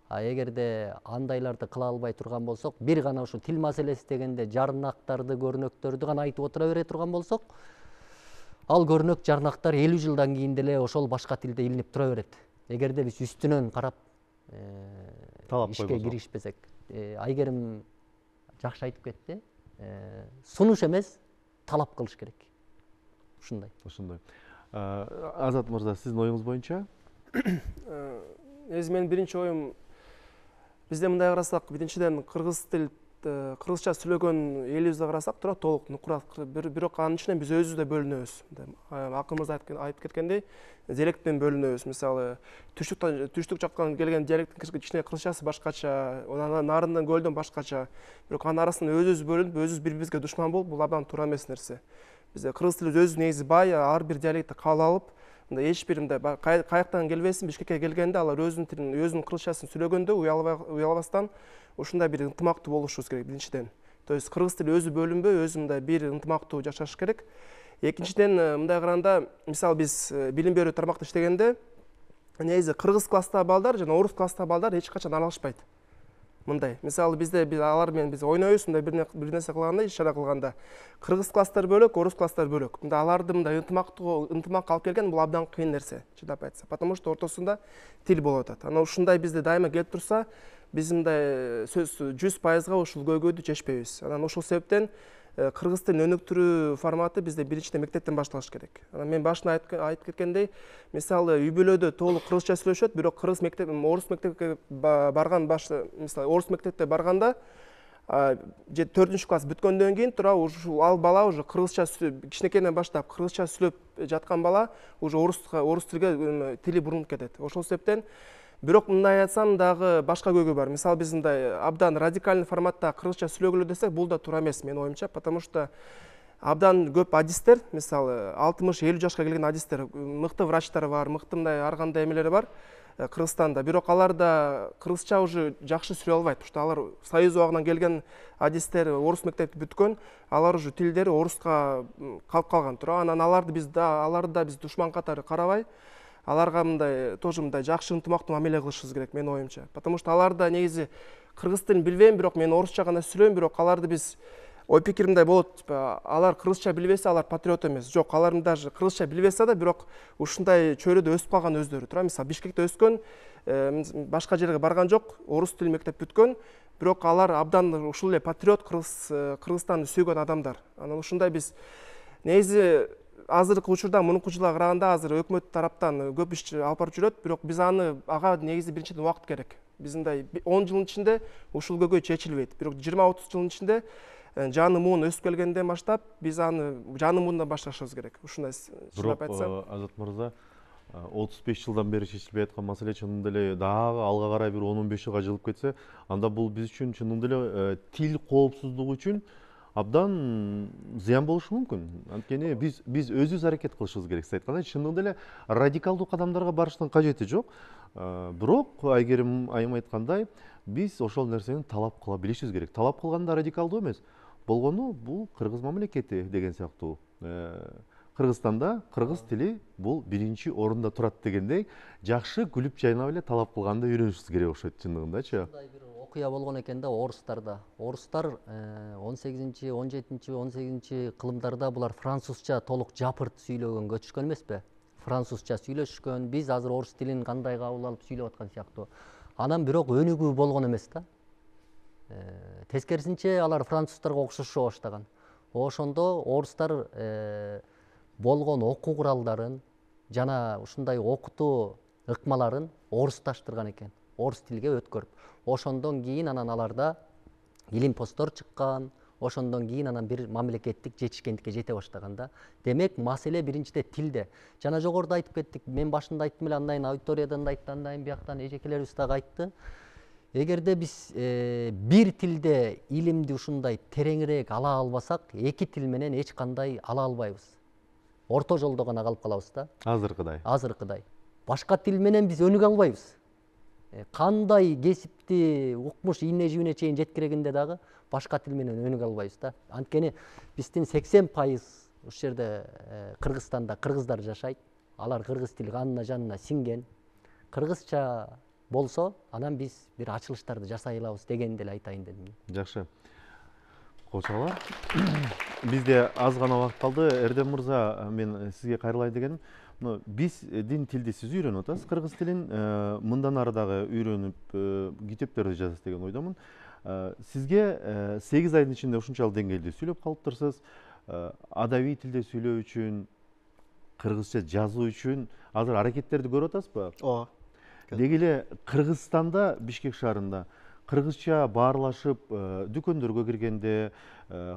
А эгерде андайларды кыла албай турган болсок, бир гана ушул тил маселеси дегенде жарнактарды, көрнөктөрдү гана айтып отура бере турган болсок, ал көрнөк жарнактар элүү жылдан кийин деле ошол башка тилде илинип тура берет. Эгерде биз үстүнөн карап ишке киришпесек. Айгерим жакшы айтып кетти. Сунуш эмес, талап кылыш керек. Ушундай. Ушундай. Азат мырза, сиздин оюңуз боюнча? Негизи менин биринчи оюм, бизде мындай карасак, биринчиден кыргыз тил кыргызча сүйлөгөн элибизди карасак, туура толук нукура, бирок анын ичинен биз өзүбүз да бөлүнөбүз. Акын мырза айтып кеткендей, диалектен бөлүнөбүз. Мисалы, түштүк жактан келген диалекттин кичине кыргызчасы башкача, анан нарындан көлдөн башкача. Бирок анын арасынан өзүбүз бөлүнүп, өзүбүз бири-бирибизге душман болуп, бул абдан туура эмес нерсе. Бизде кыргыз тили өзү негизи бай, ар бир диалектти кабыл алып, мындай эч бир мындай каяктан келбесин, Бишкекке келгенде алар өзүнүн тилин, өзүнүн кыргызчасын сүйлөгөндө уялбастан ушундай бир ынтымактуу болушубуз керек биринчиден. То есть кыргыз тили өзү бөлүнбөй, өзү мындай бир ынтымактуу жашаш керек. Экинчиден мындай караганда, мисалы биз билим берүү тармакта иштегенде, негизи кыргыз класстагы балдар жана орус класстагы балдар эч качан аралашпайт. Мындай, мисалы бизде биз алар менен биз ойнойбуз, мындай бир нерсе кылганда, иш-чара кылганда, кыргыз класстар бөлөк, орус класстар бөлөк. Мындай аларды мындай ынтымактуу, ынтымакка алып келген бул абдан кыйын нерсе, чындап айтса. Потому что ортосунда тил болуп атат. Анан ушундай бизде дайыма келип турса, биз мындай сөз жүз пайызга ушул көйгөйдү чечпейбиз. Анан ушул себептен кыргыз тилин өнүктүрүү форматы бизде биринчиден мектептен башталыш керек. Анан мен башында айтып кеткендей, мисалы үй бүлөдө толук кыргызча сүйлөшөт, бирок кыргыз мектеп, орус мектепке барган башта, мисалы орус мектепте барганда, же төртүнчү класс бүткөндөн кийин тура ушул ал бала уже кыргызча кичинекейден баштап кыргызча сүйлөп жаткан бала уже орусга, орус тилге тили бурунуп кетет. Ошол себептен бирок мындай айтсам дагы башка көйгөй бар. Мисалы биз мындай абдан радикальный форматта кыргызча сүйлөгөлө десек, бул да туура эмес менин оюмча, потому что абдан көп адистер, мисалы алтымыш элүү жашка келген адистер, мыкты врачтар бар, мыкты мындай ар кандай эмелери бар Кыргызстанда. Бирок алар да кыргызча уже жакшы сүйлөй албайт, потому что алар Союз убагынан келген адистер, орус мектепти бүткөн, алар уже тилдери оруска калып калган туура. Анан аларды биз да аларды да биз душман катары карабай, аларга мындай тоже мындай жакшы ынтымактуу мамиле кылышыбыз керек менин оюмча. Потому что алар да негизи кыргыз тилин билбейм, бирок мен орусча гана сүйлөйм, бирок аларды биз ой пикир мындай болот, алар кыргызча билбесе, алар патриот эмес. Жок, алар даже кыргызча билбесе да, бирок ушундай чөйрөдө өсүп калган өздөрү туура. Мисалы Бишкекте өскөн, башка жерге барган жок, орус тил мектеп бүткөн, бирок алар абдан ушул эле патриот, кыргыз Кыргызстанды сүйгөн адамдар. Анан ушундай биз негизи азыркы учурда мунунку жылга караганда азыр өкмөт тараптан көп иш алып барып жүрөт, бирок биз аны ага негизи биринчиден убакыт керек. Биз мындай он жылдын ичинде ушул көйгөй чечилбейт. Бирок жыйырма отуз жылдын ичинде жаны муун өсүп келгенден баштап биз аны жаны муундан башташыбыз керек. Ушундай чындап айтсам. Бирок Азат мырза, отуз беш жылдан бери чечилбей аткан маселе чынында эле дагы алга карай бир он он беш жылга жылып кетсе, анда бул биз үчүн чынында эле тил коопсуздугу үчүн абдан зыян болушу мүмкүн. Анткени биз биз өзүбүз аракет кылышыбыз керек. Сиз айткандай, чынында эле радикалдуу кадамдарга барыштын кажети жок. Бирок Айгерим айым айткандай, биз ошол нерсени талап кыла билишибиз керек. Талап кылганда радикалдуу эмес. Болгону бул кыргыз мамлекети деген сыяктуу Кыргызстанда кыргыз тили бул биринчи орунда турат дегендей, жакшы күлүп жайнап эле талап кылганды үйрөнүшүбүз керек окшойт чындыгындачы. Мындай бир окуя болгон экен да орустарда. Орустар он сегизинчи, он жетинчи, он сегизинчи кылымдарда булар французча толук жапырт сүйлөгөнгө көчүшкөн эмеспи? Французча сүйлөшкөн, биз азыр орус тилин кандай кабыл алып сүйлөп аткан сыяктуу. Анан бирок өнүгүү болгон эмес да. Тескерисинче алар француздарга окшошо баштаган. Ошондо орустар болгон окуу куралдарын жана ушундай окутуу ыкмаларын орусташтырган экен. Орус тилге өткөрүп. Ошондон кийин анан аларда илим посттор чыккан. Ошондон кийин анан бир мамлекеттик жетишкендикке жете баштаган да. Демек, маселе биринчиде тилде. Жана жогоруда айтып кеттик, мен башында айттым эле, андан кийин аудиториядан да айтты, андан кийин бияктан эжекелерибиз дагы айтты. Эгерде биз бир тилде илимди ушундай тереңирээк ала албасак, эки тил менен эч кандай ала албайбыз. Орто жолдо гана калып калабыз да. Азыркыдай. Азыркыдай. Башка тил менен биз өнүгө албайбыз. Кандай кесипти укмуш ийне жибине чейин жеткирегенде дагы башка тил менен өнүгө албайбыз да. Анткени биздин сексен пайыз ушул жерде Кыргызстанда кыргыздар жашайт. Алар кыргыз тили канына жанына сиңген. Кыргызча болсо, анан биз бир ачылыштарды жасай алабыз дегенди эле айтайын дедим. Жакшы. Кошалар. Бизде аз гана убакыт калды. Эрдем мырза, мен сизге кайрылайын дегеним, биздин тилди сиз үйрөнүп атасыз, кыргыз тилин. Мындан ары дагы үйрөнүп китептерди жазасыз деген ойдомун. Сизге сегиз айдын ичинде ушунчалык деңгээлде сүйлөп калыптырсыз. Адабий тилде сүйлөө үчүн, кыргызча жазуу үчүн азыр аракеттерди көрүп атасызбы? Ооба. Деги эле Кыргызстанда, Бишкек шаарында кыргызча баарлашып дүкөндөргө киргенде,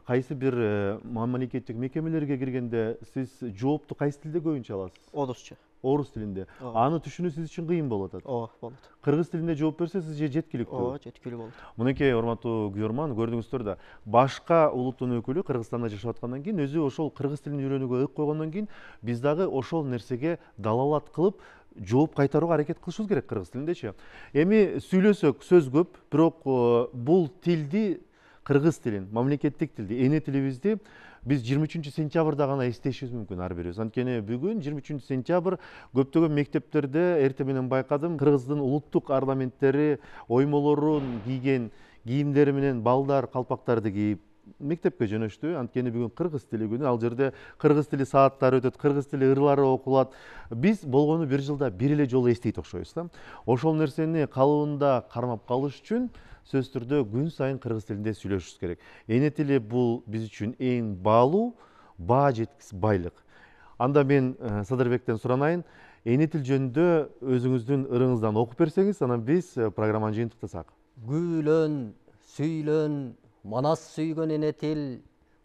кайсы бир мамлекеттик мекемелерге киргенде сиз жоопту кайсы тилде көбүнчө аласыз? Орусча. Орус тилинде. Аны түшүнүү сиз үчүн кыйын болуп атат. Ооба, болот. Кыргыз тилинде жооп берсе сиз же жеткиликтүү? Ооба, жеткилүү болот. Мынакей урматтуу көрөрман, көрдүңүздөр да, башка улуттун өкүлү Кыргызстанда жашап аткандан кийин өзү ошол кыргыз тилин үйрөнүүгө ык койгондон кийин биз дагы ошол нерсеге далалат кылып жооп кайтарууга аракет кылышыбыз керек кыргыз тилиндечи. Эми сүйлөсөк сөз көп, бирок бул тилди, кыргыз тилин, мамлекеттик тилди, эне тилибизди биз жыйырма үчүнчү сентябрда гана эстешибиз мүмкүн ар бирибиз. Анткени бүгүн жыйырма үчүнчү сентябрь көптөгөн мектептерде эртең менен байкадым, кыргыздын улуттук орнаменттери, оймолорун кийген кийимдери менен балдар калпактарды кийип мектепке жөнөштү. Анткени бүгүн кыргыз тили күнү, ал жерде кыргыз тили сааттары өтөт, кыргыз тили ырлары окулат. Биз болгону бир жылда бир эле жолу эстейт окшойбуз да. Ошол нерсени калыбында кармап калыш үчүн сөзсүз түрдө күн сайын кыргыз тилинде сүйлөшүбүз керек. Эне тили бул биз үчүн эң баалуу, баа жеткис байлык. Анда мен Садырбектен суранайын, эне тил жөнүндө өзүңүздүн ырыңыздан окуп берсеңиз, анан биз программаны жыйынтыктасак. Күйлөн, сүйлөн, манас сүйгөн эне тил,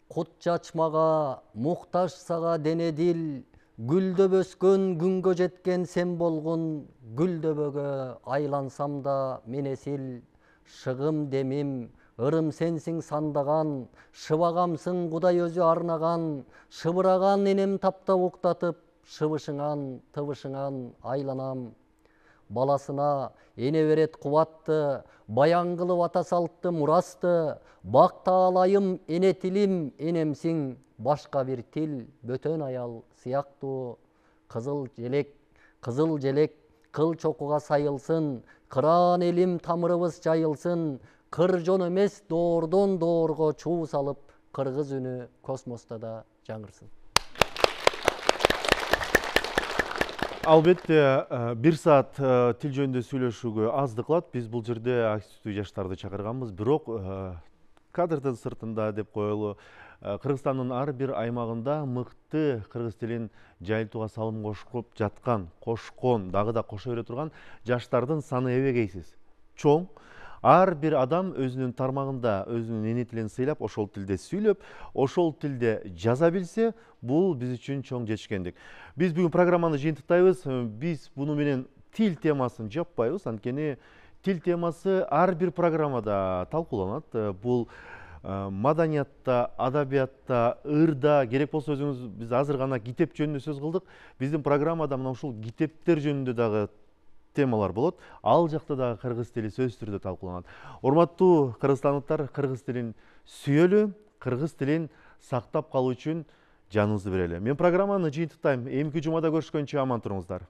кут чачмага, муктаж сага дене дил, гүлдөп өскөн күнгө жеткен сен болгун, гүлдөбөгө айлансам да мен эсил, шыгым демим, ырым сенсиң сандаган, шыбагамсың Кудай өзү арнаган, шыбыраган энем таптап уктатып, шыбышыңан, тыбышыңан айланам. Баласына эне берет кубатты, баян кылып ата салтты мурасты, бакта алайым эне тилим энемсиң, башка бир тил бөтөн аял сыяктуу. Кызыл желек, кызыл желек кыл чокуга сайылсын, кыран элим тамырыбыз жайылсын, кыр жон эмес доордон доорго чуу салып, кыргыз үнү космоста да жаңырсын. Албетте, бир саат тил жөнүндө сүйлөшүүгө аздык кылат. Биз бул жерде активдүү жаштарды чакырганбыз, бирок кадрдын сыртында деп коелу, Кыргызстандын ар бир аймагында мыкты кыргыз тилин жайылтууга салым кошуп жаткан, кошкон, дагы да кошо бере турган жаштардын саны эбегейсиз. Чоң. Ар бир адам өзүнүн тармагында өзүнүн эне тилин сыйлап, ошол тилде сүйлөп, ошол тилде жаза билсе, бул биз үчүн чоң жетишкендик. Биз бүгүн программаны жыйынтыктайбыз. Биз буну менен тил темасын жаппайбыз, анткени тил темасы ар бир программада талкууланат. Бул маданиятта, адабиятта, ырда, керек болсо өзүңүз, биз азыр гана китеп жөнүндө сөз кылдык. Биздин программада мына ушул китептер жөнүндө дагы темалар болот. Ал жакта дагы кыргыз тили сөзсүз түрдө талкууланат. Урматтуу кыргызстандыктар, кыргыз тилин сүйөлү, кыргыз тилин сактап калуу үчүн жаныбызды берели. Мен программаны жыйынтыктайм. Эмки жумада көрүшкөнчө аман туруңуздар.